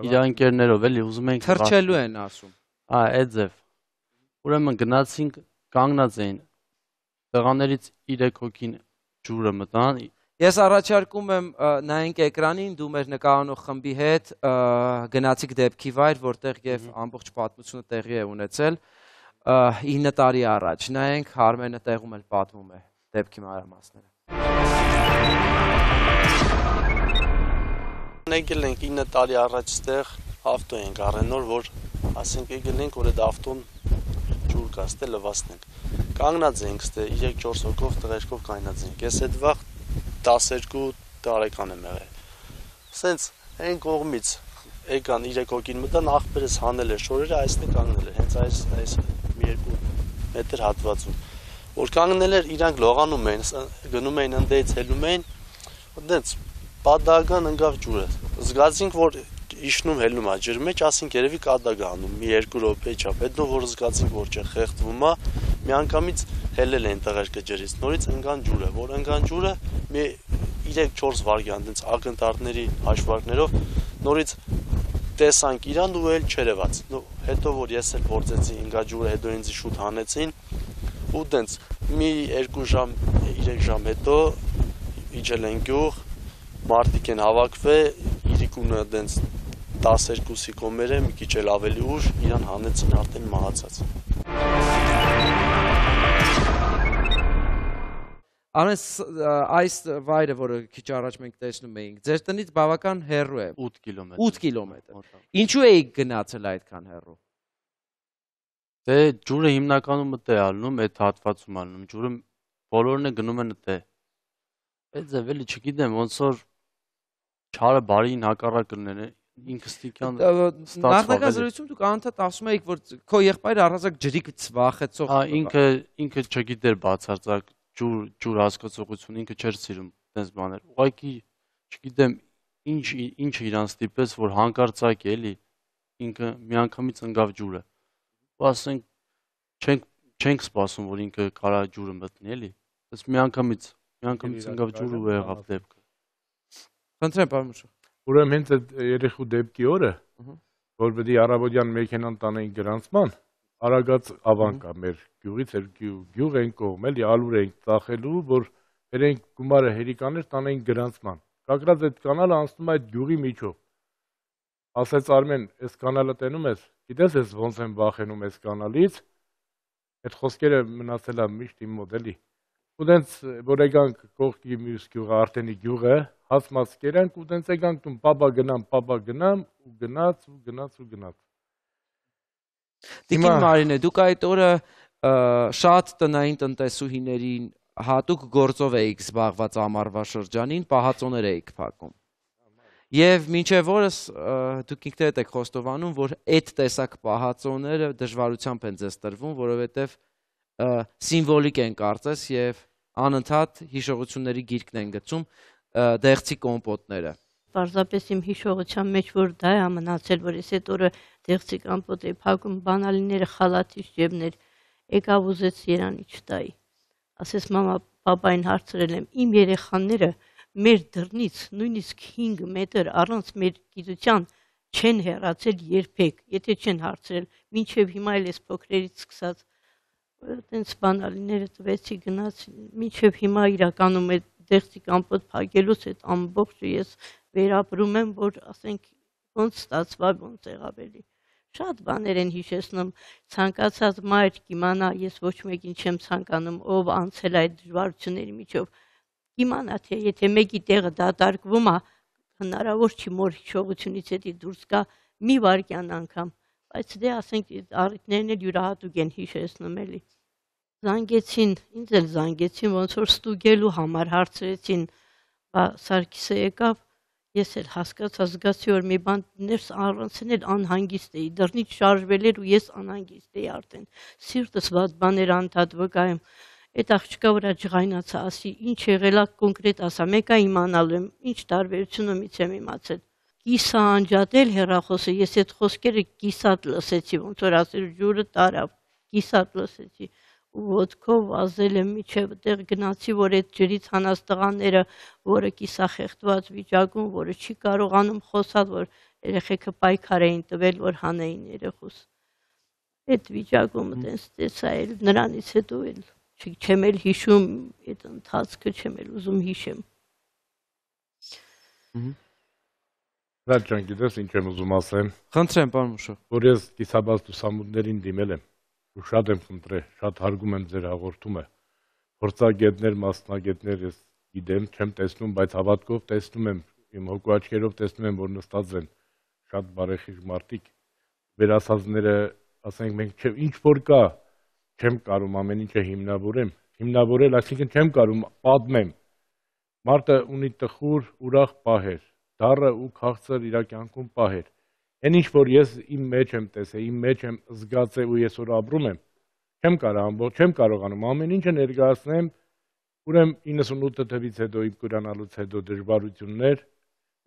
Իր ընկերներով էլի ուզում ենք թրջելու են ասում։ Այդ ձև։ Ուրեմն գնացինք, կանգնած էին։ Տղաներից 3 հոգին ջուրը մտան։ Ես առաջարկում եմ նայենք էկրանին, դու մեր նկարանող խմբի հետ գնացիք դեպքի վայր, որտեղ եւ ամբողջ պատմությունը տեղի է ունեցել 9 տարի առաջ։ Նայենք Արմենը տեղում էլ պատմում է դեպքի մանրամասները։ Եկել ենք 9 տարի առաջ ստեղ ավտո ենք առեն նոր, որ ասենք եկել ենք, որ այդ ավտոն ջուր կա, ստե լվացնենք։ Կանգնած ենք ստե 3-4 հոգով տղերքով կայնած ենք։ Ես այդ վաղ 12 տարեկան եմ եղել։ Սենց այն կողմից եկան 3 հոգին մտան, աղբերս հանել էր շորերը, այստեղ կանգնել էր, հենց այս մի 2 մետր հատվածում։ Որ կանգնել էր, իրանք լողանում էին, գնում էին ընդդեից հելում էին, դենց պատահական ընկավ ջուրը։ Զգացինք, որ իջնում հելնում է ջրի մեջ, ասինք երևի կադագ անում, մի 2 րոպե չափ։ Հետո որ զգացինք, որ չէ, խեղդվում է, միանգամից հելել են տղերքը ջրից, նորից ընկան ջուրը, որ ընկան ջուրը, մի 3-4 վայրկյան, դենց ակնթարթների հաշվարկներով, նորից տեսանք իրան ու էլ չերևաց։ Հետո որ ես էլ փորձեցի ընկա ջուրը, հետո ինձ շուտ հանեցին, ու դենց մի 2 ժամ, 3 ժամ հետո իջել են գյուղ, մարդիկ են հավաքվել, իրիկունը դենց 12-ի կոմեր է, մի քիչ էլ ավելի ուշ, իրան հանեցին արդեն մահացած։ Արմեն, այս վայրը, որը քիչ առաջ մենք տեսնում էինք, ձեր տնից բավական հեռու է։ 8 կիլոմետր։ 8 կիլոմետր։ Ինչու էիք գնացել այդքան հեռու։ Դե ջուրը հիմնականում մտե ալնում, այդ հատվածում ալնում, ջուրը բոլորն է գնում են մտե։ Այդ ձև էլի չգիտեմ, ոնց որ չարը բարին հակառակ կլներ, ինքստիկյան ստացվավ։ Նախնական զրույցում դուք անդադ ասում էիք, որ քո եղբայրը առանցակ ջրիկից վախեցող։ Ինքը չգիտեր բացարձակ ջուր հասկացողություն, ինքը չէր սիրում այդպես բաներ։ Ուղղակի չգիտեմ ինչ իրան ստիպեց, որ հանկարծակ էլի ինքը միանգամից ընկավ ջուրը։ Ու ասենք չենք սպասում, որ ինքը կարա ջուրը մտնի, էլի։ Այս միանգամից ընկավ ջուրը ու եղավ դեպքը։ Խնդրեմ, պարոն Մուշը։ Ուրեմն հենց այդ երեխու դեպքի օրը, որ պետք է առավոտյան մեքենան տանեին գրանցման, Արագած ավանք է մեր գյուղից, գյուղ են կողմ, էլի ալուր ենք ծախելու, որ բերենք գումարը հերիկաներ տանեին գրանցման։ Կակրած այդ կանալը անցնում է այդ գյուղի միջով։ Ասեց Արմեն, այս կանալը տենում ես, գիտես ես ոնց եմ վախենում այս կանալից, այդ խոսքերը մնացել է միշտ իմ մոտ, էլի։ Ու դենց, որ եկանք կողքի մյուս գյուղը, Արտենի գյուղը, հասմաց կերանք ու դենց եկանք տուն պապա գնամ, ու գնաց։ Տիկին Մարինե, դուք այդ օրը շատ տնային տնտեսուհիներին հատուկ գործով էիք զբաղված ամառվա շրջանին, պահածոներ էիք փակում։ Եվ մինչև օրս դուք ինքներդ եք խոստովանում, որ այդ տեսակ պահածոները դժվարությամբ են ձեզ տրվում, որովհետև սիմվոլիկ են կարծես եւ անընդհատ հիշողությունների գիրկն են գցում դեղցի կոմպոտները։ Պարզապես իմ հիշողության մեջ որ դա է մնացել, որ ես այդ օրը դեղցի կամպոտ էի փակում, բանալիները խալաթից ջեբներ, եկավ ուզեց երանի չտայի։ Ասես մամա, պապային հարցրել եմ, իմ երեխաները մեր դռնից նույնիսկ 5 մետր առանց մեր գիտության չեն հեռացել երբեք, եթե չեն հարցրել, մինչև հիմա էլ ես փոքրերից սկսած այդպես բանալիները տվեցի գնաց, մինչև հիմա իրականում այդ դեղցի կամպոտ փակելուց այդ ամբողջը ես վերապրում եմ, որ ասենք ոնց ստացվա, ոնց եղավ էլի։ Շատ բաներ են հիշեցնում, ցանկացած մայր կիմանա, ես ոչ մեկին չեմ ցանկանում, ով անցել այդ դժվարությունների միջով, կիմանա, թե եթե մեկի տեղը դատարկվում է, հնարավոր չի մոր հիշողությունից հետի դուրս գա մի վայրկյան անգամ, բայց դե ասենք առիթներն էլ յուրահատուկ են հիշեցնում էլի։ Զանգեցին, ինձ էլ զանգեցին, ոնց որ ստուգելու համար հարցրեցին, Սարգիսը եկավ, ես էլ հասկացա, զգացի, որ մի բան ներս առանցին էլ անհանգիստ էի, դռնից շարժվել էր ու ես անհանգիստ էի արդեն, սիրտս վատ բաներ անդադ վկայեմ, այդ աղջկա վրա ջղայնացա, ասի, ինչ եղել է կոնկրետ ասա, մեկա իմանալու եմ, ինչ տարբերությունումից եմ իմացել, կիսա անջատել հեռախոսը, ես այդ խոսքերը կիսատ լսեցի, ոնց որ ասել ջուրը տարավ, կիսատ լսեցի, ու ոտքով ազել եմ միջև տեղ գնացի, որ այդ ջրից հանած տղաները, որը կիսախեղդված վիճակում, որը չի կարողանում խոսալ, որ երեխեքը պայքար էին տվել, որ հանեին երեխուս։ Այդ վիճակում տենց տեսա էլ նրանից հետո էլ չեմ էլ հիշում այդ ընթացքը, չեմ էլ ուզում հիշեմ։ Վրաչ ջան, գիտես ինչ եմ ուզում ասեմ։ Խնդրեմ, պարոն Մուշող։ Որ ես կիսաբաց լուսամուտներին դիմել եմ, ու շատ եմ խնդրել, շատ հարգում եմ ձեր հաղորդումը։ Փորձագետներ, մասնագետներ ես գիտեմ, չեմ տեսնում, բայց հավատքով տեսնում եմ, իմ հոգու աչքերով տեսնում եմ, որ նստած են շատ բարեխիղճ մարդիկ, վերասազները, ասենք մենք ինչ որ կա, չեմ կարում ամեն ինչը հիմնավորել, այսինքն չեմ կարում պատմեմ։ Մարդը ունի տխուր, ուրախ պահեր, դառը ու քաղցր իր կյանքում պահեր։ Այն ինչ որ ես իմ մեջ եմ տեսել, իմ մեջ եմ զգացել ու ես որ ապրում եմ, չեմ կարողանում ամեն ինչը ներկայացնեմ, ուրեմն 98 թվականից հետո իմ կուրանալուց հետո դժվարություններ,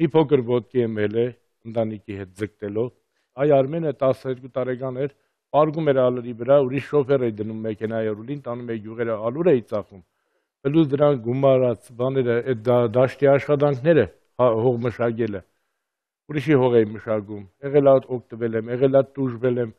մի փոքր ոտքի եմ ելել ընտանիքի հետ ձգտելով, այ Արմենը 12 տարեկան էր, պարգում էր ալրի վրա, ուրիշ շոֆեր էի դնում մեքենայի ռուլին, տանում էի յուղերը ալուր էի ծախում, բլուզ դրան գումարած բաները, այդ դաշտի աշխատանքները, հող մշակելը, ուրիշի հող էի մշակում, եղել է օգտվել եմ, եղել է տուժվել եմ,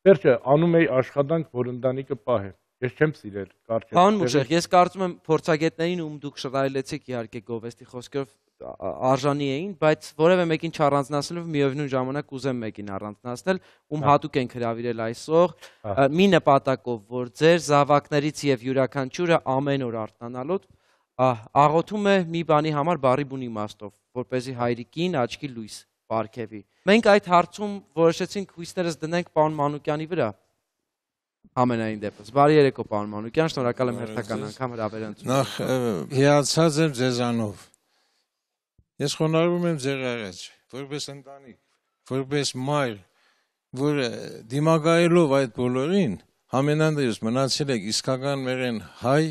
վերջը անում էի աշխատանք, որ ընտանիքը պահեմ, ես չեմ սիրել կարճ։ Պարոն Մուշեղ, ես կարծում եմ փորձագետներին ում դուք շռայլեցիք իհարկե գովեստի խոսքերով արժանի էին, բայց որևէ մեկին չառանձնացնելով միևնույն ժամանակ ուզեմ մեկին առանձնացնել, ում հատուկ ենք հրավիրել այսօր, մի նպատակով, որ ձեր զավակներից եւ յուրաքանչյուրը ամեն օր արթնանալուց աղոթում է մի բանի համար բարի բուն իմաստով, որպեսզի հայրիկին աչքի լույս պարգևի։ Մենք այդ հարցում որոշեցինք հույսներս դնենք պարոն Մանուկյանի վրա։ Ամենայն դեպս։ Բարի երեկո, պարոն Մանուկյան, շնորհակալ եմ հերթական անգամ հրավերը ընդունելու։ Նախ հիացած եմ ձեզանով։ Ես խոնարհվում եմ ձեր առաջ, որպես ընտանիք, որպես մայր, որ դիմակայելով այդ բոլորին, համենայնդեպս մնացել եք իսկական մերեն հայ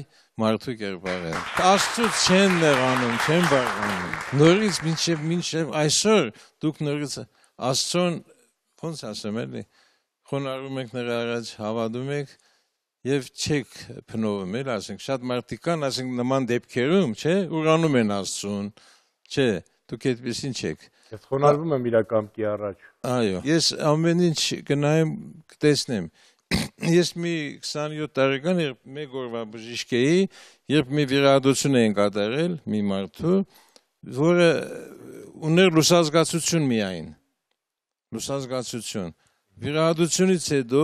մարդու կերպարը։ Աստծուց չեն նեղանում, չեն բարկանում։ Նորից մինչև այսօր դուք նորից Աստծուն, ոնց ասեմ էլի, խոնարհվում եք նրա առաջ, հավատում եք եւ չեք փնովում, էլ ասենք շատ մարդիկ կան, ասենք նման դեպքերում, չէ, ուրանում են Աստծուն, չէ, դուք այդպեսին չեք։ Ես խոնարհվում եմ իր կամքի առաջ։ Այո, ես ամեն ինչ կնայեմ, կտեսնեմ։ Ես մի 27 տարեկան մեկ օրվա բժիշկ էի, երբ մի վիրահատություն էին կատարել մի մարդու, որը ուներ լուսազգացություն միայն։ Լուսազգացություն։ Վիրահատությունից հետո,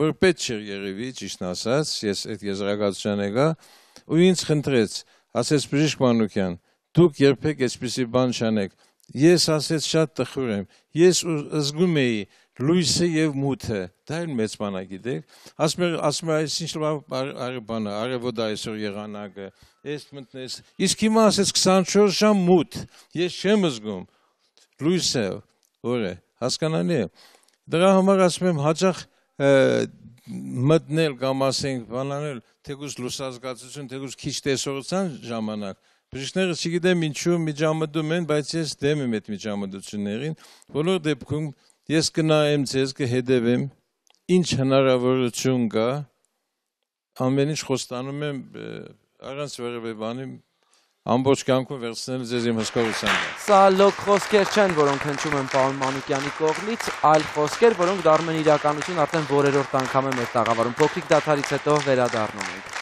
որ պետք չէր երևի, ճիշտ ասած, ես այդ եզրակացության եկա, ու ինձ խնդրեց, ասեց բժիշկ Մանուկյան, դուք երբեք այսպիսի բան չանեք։ Ես ասեց շատ տխուր եմ, ես զգում էի լույսը եւ մութը, դա էլ մեծ բան է, գիտեք։ Ասում է, այս ինչ բան է, արևոտ այսօր եղանակը, այս մտնես։ Իսկ հիմա ասեց 24 ժամ մութ, ես չեմ զգում լույսը, որ է, հասկանալի է։ Դրա համար ասում եմ հաճախ մտնել կամ ասենք բանանել, թեկուզ լուսազգացություն, թեկուզ քիչ տեսողության ժամանակ, Բժիշկները չգիտեմ ինչու միջամտում են, բայց ես դեմ եմ այդ միջամտություններին։ Բոլոր դեպքում ես կնայեմ ձեզ, կհետևեմ, ինչ հնարավորություն կա, ամեն ինչ խոստանում եմ առանց որևէ բանի ամբողջ կյանքում վերցնել ձեզ իմ հսկողությամբ։ Սա լոկ խոսքեր չեն, որոնք հնչում են պարոն Մանուկյանի կողմից, այլ խոսքեր, որոնք դառնում են իրականություն արդեն որերորդ անգամ է մեր տաղավարում։ Փոքրիկ դադարից հետո վերադառնում ենք։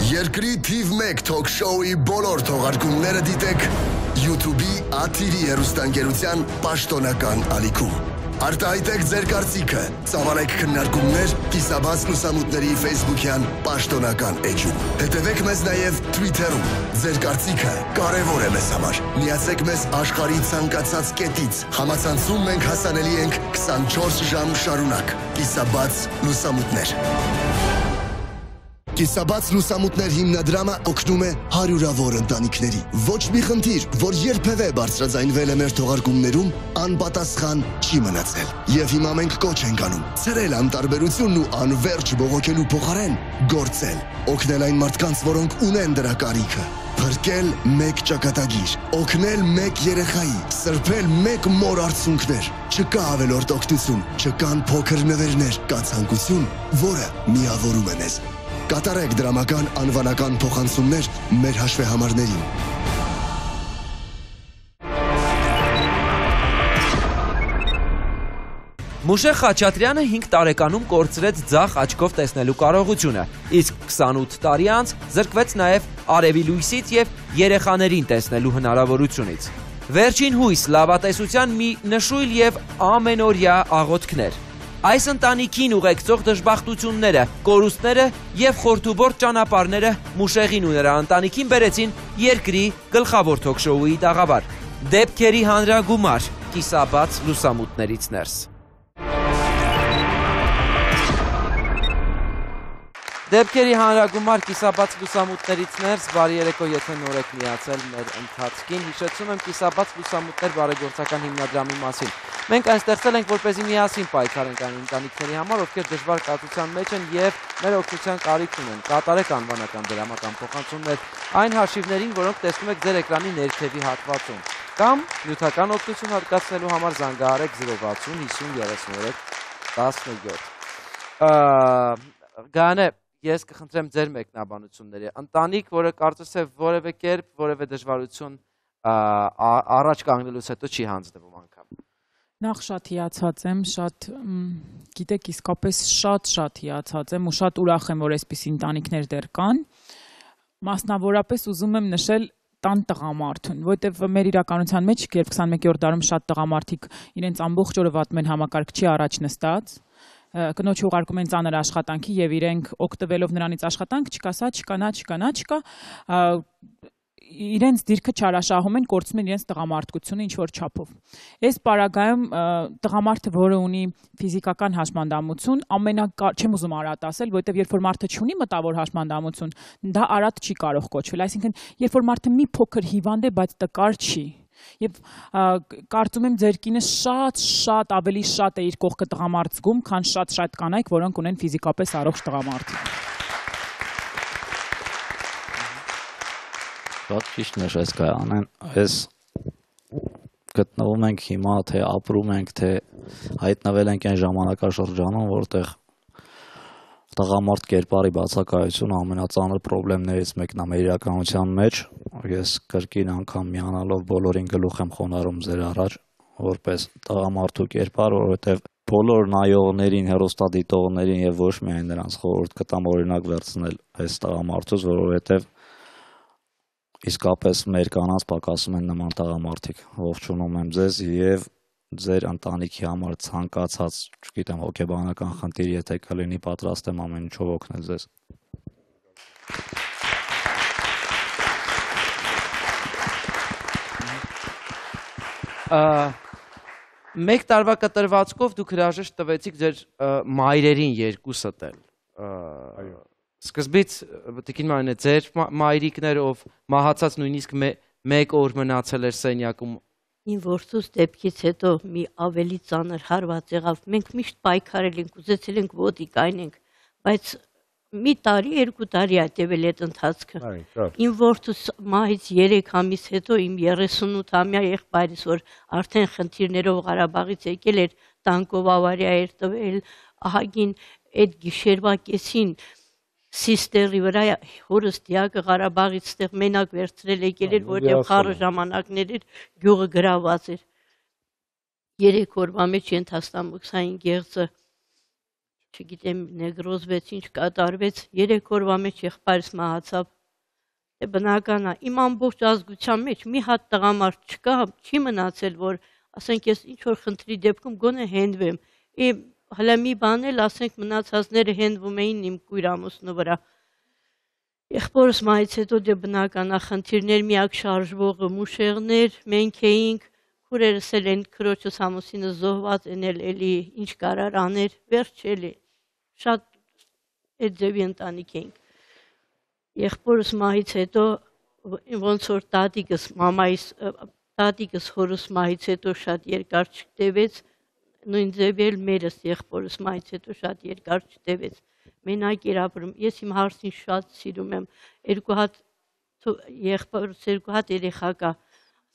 Երկրի թիվ 1 թոք շոուի բոլոր թողարկումները դիտեք YouTube-ի Աթիրի հեռուստաընկերության պաշտոնական ալիքում։ Արտահայտեք ձեր կարծիքը, ծավալեք քննարկումներ կիսաբաց լուսամուտների Facebook-յան պաշտոնական էջում։ Հետևեք մեզ նաև Twitter-ում։ Ձեր կարծիքը կարևոր է մեզ համար։ Միացեք մեզ աշխարհի ցանկացած կետից։ Համացանցում մենք հասանելի ենք 24 ժամ շարունակ։ Կիսաբաց լուսամուտներ։ Կիսաբաց լուսամուտներ հիմնադրամը օգնում է հարյուրավոր ընտանիքների։ Ոչ մի խնդիր, որ երբևէ բարձրաձայնվել է մեր թողարկումներում, անպատասխան չի մնացել։ Եվ հիմա մենք կոչ ենք անում ցրել անտարբերությունն ու անverջ բողոքելու փոխարեն գործել, օգնել այն մարդկանց, որոնք ունեն դրա կարիքը։ Փրկել մեկ ճակատագիր, օգնել մեկ երեխայի, սրբել մեկ մոր արցունքներ։ Չկա ավելորդ օգնություն, չկան փոքր նվերներ, կա ցանկություն, որը միավորում է մեզ։ Կատարեք դրամական անվանական փոխանցումներ մեր հաշվեհամարներին։ Մուշեղ Խաչատրյանը 5 տարեկանում կորցրեց ձախ աչքով տեսնելու կարողությունը, իսկ 28 տարի անց զրկվեց նաև արևի լույսից և երեխաներին տեսնելու հնարավորությունից։ Վերջին հույս լավատեսության մի նշույլ և ամենօրյա աղոթքներ։ Այս ընտանիքին ուղեկցող դժբախտությունները, կորուստները և խորթուբորտ ճանապարհները Մուշեղին ու նրա ընտանիքին բերեցին երկրի գլխավոր թոքշոուի տաղավար։ Դեպքերի հանրագումար, կիսաբաց լուսամուտներից ներս։ Դեպքերի հանրագումար, կիսաբաց լուսամուտներից ներս, բարի երեկո, եթե նոր եք միացել մեր ընթացքին, հիշեցնում եմ կիսաբաց լուսամուտներ բարեգործական հիմնադրամի մասին։ Մենք այն ստեղծել ենք, որպեսզի միասին պայքարենք այն ընտանիքների համար, ովքեր դժվար կացության մեջ են և մեր օգնության կարիք ունեն։ Կատարեք անվանական դրամական փոխանցումներ այն հաշիվներին, որոնք տեսնում եք ձեր էկրանի ներքևի հատվածում, կամ նյութական օգնություն հատկացնելու համար զանգահարեք 060 50 33 17։ Գանե, ես կխնդրեմ ձեր մեկնաբանությունների։ Ընտանիք, որը կարծես է որևէ կերպ, որևէ դժվարություն առաջ կանգնելուց հետո չի հանձնվում անգամ։ Նախ շատ հիացած եմ, շատ, գիտեք, իսկապես շատ հիացած եմ ու շատ ուրախ եմ, որ այսպիսի ընտանիքներ դեռ կան։ Մասնավորապես ուզում եմ նշել տան տղամարդուն, որտեվ մեր իրականության մեջ, երբ 21-րդ դարում շատ տղամարդիկ իրենց ամբողջ օրը վատում են համակարգչի առաջ նստած, կնոջ ուղարկում են ծանր աշխատանքի և իրենք օգտվելով նրանից աշխատանք չկա, սա չկա, նա չկա, նա չկա, իրենց դիրքը չարաշահում են, կորցնում են իրենց տղամարդկությունը ինչ-որ չափով։ Այս պարագայում տղամարդը, որը ունի ֆիզիկական հաշմանդամություն, չեմ ուզում արատ ասել, որովհետև երբ որ մարդը չունի մտավոր հաշմանդամություն, դա արատ չի կարող կոչվել, այսինքն երբ որ մարդը մի փոքր հիվանդ է, բայց տկար չի։ Եվ կարծում եմ ձեր կինը շատ ավելի շատ է իր կողքը տղամարդ զգում, քան շատ կանայք, որոնք ունեն ֆիզիկապես առողջ տղամարդիկ։ Շատ ճիշտ նշեց Գայանեն, այս գտնվում ենք հիմա, թե ապրում ենք, թե հայտնվել ենք այն ժամանակաշրջանում, որտեղ տղամարդ կերպարի բացակայությունը ամենածանր պրոբլեմներից մեկն է մեր իրականության մեջ։ Ես կրկին անգամ միանալով բոլորին գլուխ եմ խոնարհում ձեր առաջ, որպես տղամարդու կերպար, որովհետև բոլոր նայողներին, հեռուստադիտողներին եւ ոչ միայն նրանց խորհուրդ կտամ օրինակ վերցնել այս տղամարդուց, որովհետև իսկապես մեր կանանց պակասում են նման տղամարդիկ։ Ողջունում եմ ձեզ եւ ձեր ընտանիքի համար ցանկացած, չգիտեմ, հոգեբանական խնդիր, եթե կլինի, պատրաստ եմ ամեն ինչով օգնել ձեզ։ Մեկ տարվա կտրվածքով դուք հրաժեշտ տվեցիք ձեր մայրերին երկուսդ էլ։ Սկզբից Տիկին Մարինե, ձեր մայրիկներ, ով մահացած նույնիսկ մեկ օր մնացել էր սենյակում։ Իմ որդուս դեպքից հետո մի ավելի ծանր հարված եղավ։ Մենք միշտ պայքարել ենք, ուզեցել ենք ոդիկ այնենք, բայց մի տարի, 2 տարի ա տևել այդ ընթացքը։ Իմ որդուս մահից 3 ամիս հետո իմ 38-ամյա եղբայրս, որ արդեն խնդիրներով Ղարաբաղից եկել էր, տանկով ավարիա էր տվել, ահագին այդ գիշերվա կեսին Սիստերի վրա հորս դիակը Ղարաբաղից ստեղ մենակ վերցրել եկել էր, որտեղ խառը ժամանակներ էր, գյուղը գրաված էր։ 3 օրվա մեջ ենթաստամոքսային գեղձը, չգիտեմ, նեգրոզվեց, ինչ կատարվեց, 3 օրվա մեջ եղբայրս մահացավ։ Դե բնական է, իմ ամբողջ ազգության մեջ մի հատ տղամարդ չկա, չի մնացել, որ ասենք ես ինչ որ խնդրի դեպքում գոնե հենվեմ։ Հələ մի բան էլ, ասենք մնացածները հենվում էին իմ կույր ամուսնու վրա։ Եղբորս մահից հետո դե բնական է խնդիրներ, միակ շարժվողը մուշեղներ, մենք էինք, քուրերս էլ են քրոջս ամուսինը զոհված են էլի ինչ կարար աներ, վերջ էլի, շատ այդ ձևի ընտանիք էինք։ Եղբորս մահից հետո ոնց որ տատիկս հորս մահից հետո շատ երկար չտևեց, նույն ձև էլ մերս եղբորս մահից հետո շատ երկար չտևեց, մենակ էր ապրում, ես իմ հարսին շատ սիրում եմ, 2 հատ եղբորս 2 հատ երեխա կա,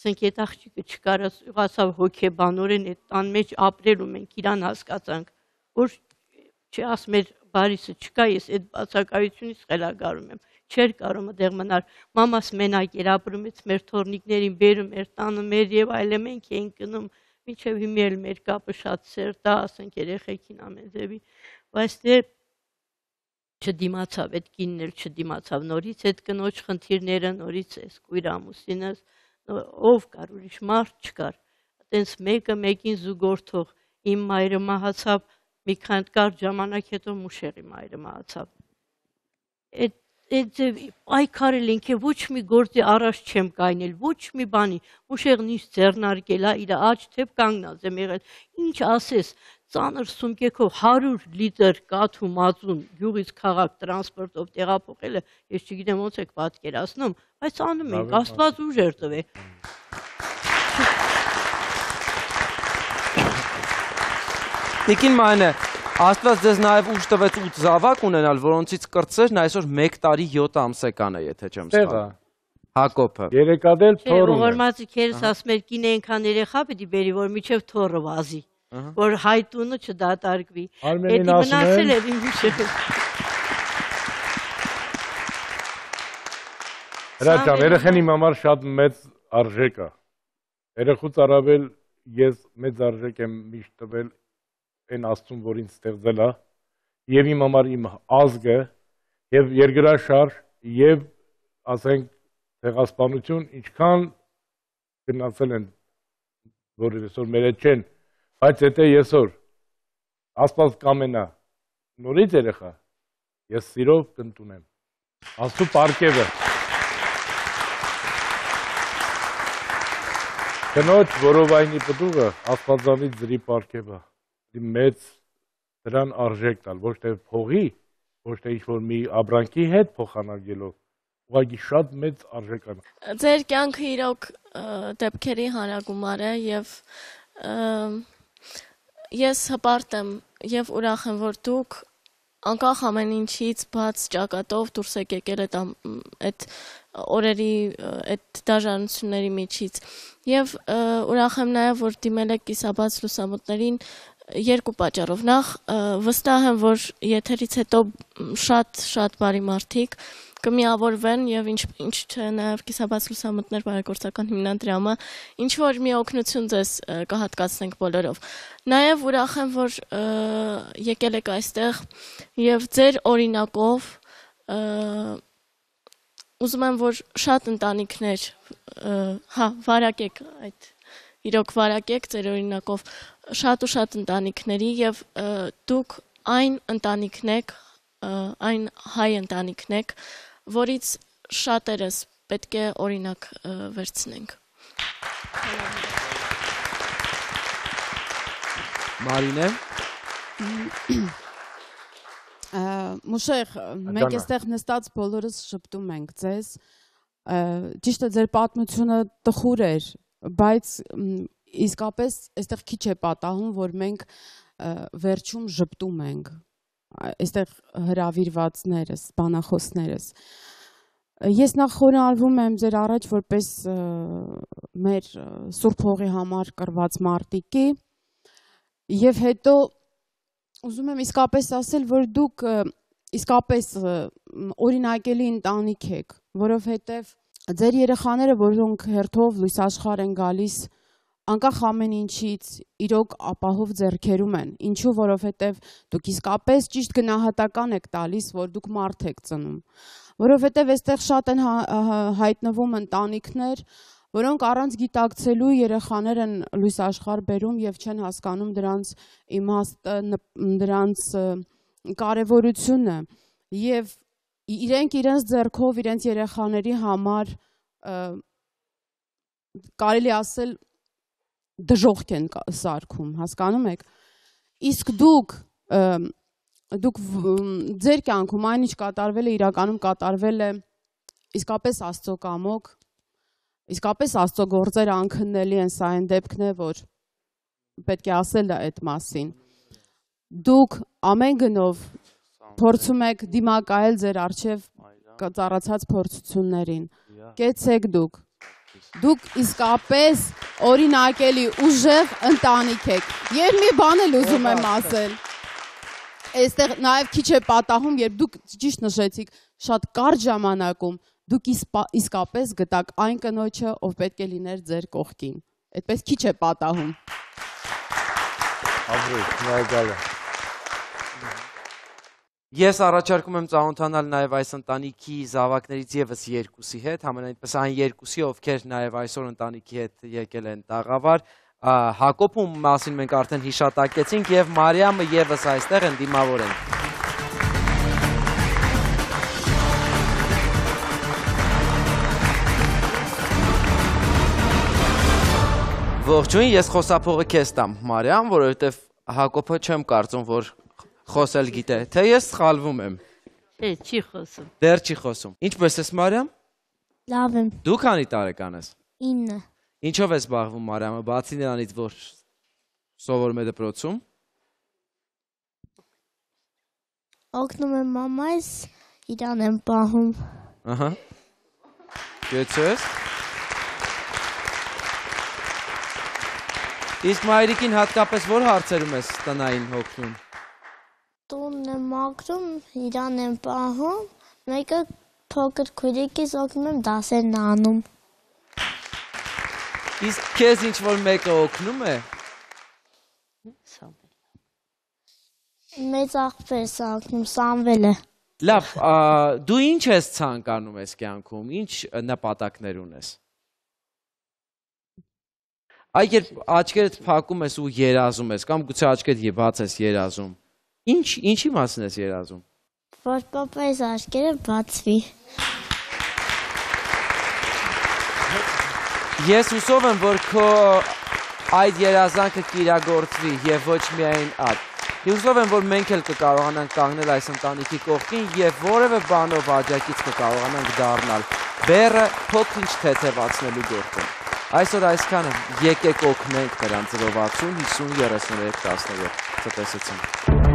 ասենք այդ աղջիկը չկարողացավ հոգեբանորեն այդ տան մեջ ապրել ու մենք իրան հասկացանք, որ չասում էր բարիսը չկա, ես այդ բացակայությունից խելագարում եմ, չէր կարող այդտեղ մնալ, մամաս մենակ էր ապրում, մեր թորնիկներին բերում էր տանը մեր եւ այլն մենք էինք գնում, մինչև հիմա էլ մեր կապը շատ սերտ է, ասենք երեխեքին ամեն ձևի, բայց դե չդիմացավ, այդ կինն էլ չդիմացավ, նորից այդ կնոջ խնդիրները, նորից էս կույր ամուսինս, ով կար, ուրիշ մարդ չկար, այտենց մեկը մեկին զուգորդող, իմ մայրը մահացավ, մի քանի կարճ ժամանակ հետո մուշեղի մայրը մահացավ, այդ պայքարել ենք, ոչ մի գործի առաջ չեմ կայնել, ոչ մի բանի, մուշեղն ինչ ձեռնարկել, իր աջ թեպ կանգնած եմ եղել, ինչ ասես, ծանր սումկեքով 100 լիտր կաթ ու մածուն գյուղից քաղաք տրանսպորտով տեղափոխելը, ես չգիտեմ ոնց եք պատկերացնում, բայց անում ենք, Աստված ուժեր տվե։ Տիկին Մանե, Աստված ձեզ նաև ուժ տվեց 8 զավակ ունենալ, որոնցից կրտսերն այսօր 1 տարի 7 ամսական է, եթե չեմ սխալվում։ Հակոբը։ Երեկադել թորում է։ Ողորմածիքերս ասում էր կին այնքան երեխա պիտի բերի, որ միջև թորը վազի, որ հայտունը չդատարկվի։ Արմենին ասում էր իմ հիշել։ Հրաչան, երեխեն իմ համար շատ մեծ արժեք է։ Երեխուց առավել ես մեծ արժեք եմ միշտ տվել այն Աստծուն, որ ինձ ստեղծել է, եւ իմ համար իմ ազգը, եւ երկրաշարժ, եւ ասենք ցեղասպանություն, ինչքան գնացել են, որ այսօր մեր հետ չեն, բայց եթե այսօր Աստված կամենա նորից երեխա, ես սիրով կընդունեմ։ Աստծո պարգևը։ Կնոջ որովայնի պտուղը Աստվածանից ձրի պարգևը։ Մեծ դրան արժեք տալ, ոչ թե փողի, ոչ թե ինչ-որ մի ապրանքի հետ փոխանակելով, ուղղակի շատ մեծ արժեք է։ Ձեր կյանքը իրոք դեպքերի հանրագումար է եւ ես հպարտ եմ եւ ուրախ եմ, որ դուք անկախ ամեն ինչից բաց ճակատով դուրս եք եկել այդ օրերի այդ դաժանությունների միջից եւ ուրախ եմ նաեւ, որ դիմել եք կիսաբաց լուսամուտներին 2 պատճառով։ Նախ վստահ եմ, որ եթերից հետո շատ բարի մարդիկ կմիավորվեն եւ ինչ չէ նաեւ կիսաբաց լուսամուտներ բարեգործական հիմնադրամը ինչ որ մի օգնություն ձեզ կհատկացնենք բոլորով։ Նաեւ ուրախ եմ, որ եկել եք այստեղ եւ ձեր օրինակով ուզում եմ, որ շատ ընտանիքներ վարակեք այդ իրոք վարակեք ձեր օրինակով շատ ու շատ ընտանիքների եւ դուք այն ընտանիքն եք, այն հայ ընտանիքն եք, որից շատերս պետք է օրինակ վերցնենք։ Մարինե։ Մուշեղ, մենք այստեղ նստած բոլորս շփտում ենք ձեզ, ճիշտ է ձեր պատմությունը տխուր էր, բայց իսկապես այստեղ քիչ է պատահում, որ մենք վերջում շփտում ենք, այստեղ հրավիրվածներս, բանախոսներս։ Ես նախ խորհրդում եմ ձեր առաջ որպես մեր Սուրբ Հողի համար կռված մարտիկի եւ հետո ուզում եմ իսկապես ասել, որ դուք իսկապես օրինակելի ընտանիք եք, որովհետեւ ձեր երեխաները, որոնք հերթով լույս աշխարհ են գալիս, անկախ ամեն ինչից իրոք ապահով ձեռքերում են, ինչու որովհետև դուք իսկապես ճիշտ գնահատական եք տալիս, որ դուք մարդ եք ծնում, որովհետև այստեղ շատ են հայտնվում ընտանիքներ, որոնք առանց գիտակցելու երեխաներ են լույս աշխարհ բերում եւ չեն հասկանում դրանց իմաստը, դրանց կարեւորությունը եւ իրենք իրենց ձեռքով իրենց երեխաների համար կարելի ասել դժոխք են սարքում, հասկանում եք։ Իսկ դուք ձեր կյանքում այն ինչ կատարվել է, իրականում կատարվել է իսկապես Աստծո կամոք, իսկապես Աստծո գործերը անքննելի են, սա այն դեպքն է, որ պետք է ասել այդ մասին։ Դուք ամեն գնով փորձում եք դիմակայել ձեր առջև ծառացած փորձություններին։ Կեցեք դուք։ Դուք իսկապես օրինակելի ուժեղ ընտանիք եք։ Եվ մի բան էլ ուզում եմ ասել։ Այստեղ նաև քիչ է պատահում, երբ դուք ճիշտ նշեցիք, շատ կարճ ժամանակում դուք իսկապես գտաք այն կնոջը, ով պետք է լիներ ձեր կողքին։ Այդպես քիչ է պատահում։ Ես առաջարկում եմ ծանոթանալ նաև այս ընտանիքի զավակներից եւս երկուսի հետ, համենայնպես այն երկուսի, ովքեր նաև այսօր ընտանիքի հետ եկել են տաղավար։ Հակոբում մասին մենք արդեն հիշատակեցինք եւ Մարիամը եւս այստեղ են դիմավոր են։ Ողջույն, ես խոսափողը քեզ տամ, Մարիամ, որովհետեւ Հակոբը չեմ կարծում, որ խոսել գիտե, թե ես սխալվում եմ։ Չի խոսում։ Դեռ չի խոսում։ Ինչպես ես, Մարիամ։ Լավ եմ։ Դու քանի տարեկան ես։ 9։ Ինչով ես զբաղվում, Մարիամը, բացի նրանից, որ սովորում է դպրոցում։ Օգնում եմ մամայս, իրան եմ պահում։ Ահա։ Գեցես։ Իսկ մայրիկին հատկապես որ հարցերում ես տնային օգնում։ Տունն եմ մաքրում, իրան եմ պահում, մեկը փոքր քույրիկիս օգնում եմ դասերն անում։ Իսկ քեզ ինչ որ մեկը օգնում է։ Մեծ աղբերս օգնում, Սամվելը։ Լավ, դու ինչ ես ցանկանում ես կյանքում, ինչ նպատակներ ունես։ Այ երբ աչքերդ փակում ես ու երազում ես, կամ գուցե աչքերդ բաց ես երազում, ինչի մասին ես երազում։ Որ պապայիս աչքերը բացվի։ Ես հուսով եմ, որ քո այդ երազանքը կիրագործվի եւ ոչ միայն այդ։ Հուսով եմ, որ մենք էլ կկարողանանք կանգնել այս ընտանիքի կողքին եւ որևէ բանով աջակից կկարողանանք դառնալ բեռը փոքր-ինչ թեթևացնելու գործում։ Այսօր այսքանը, եկեք օգնենք նրանց 060 50 33 17 ցտեսություն։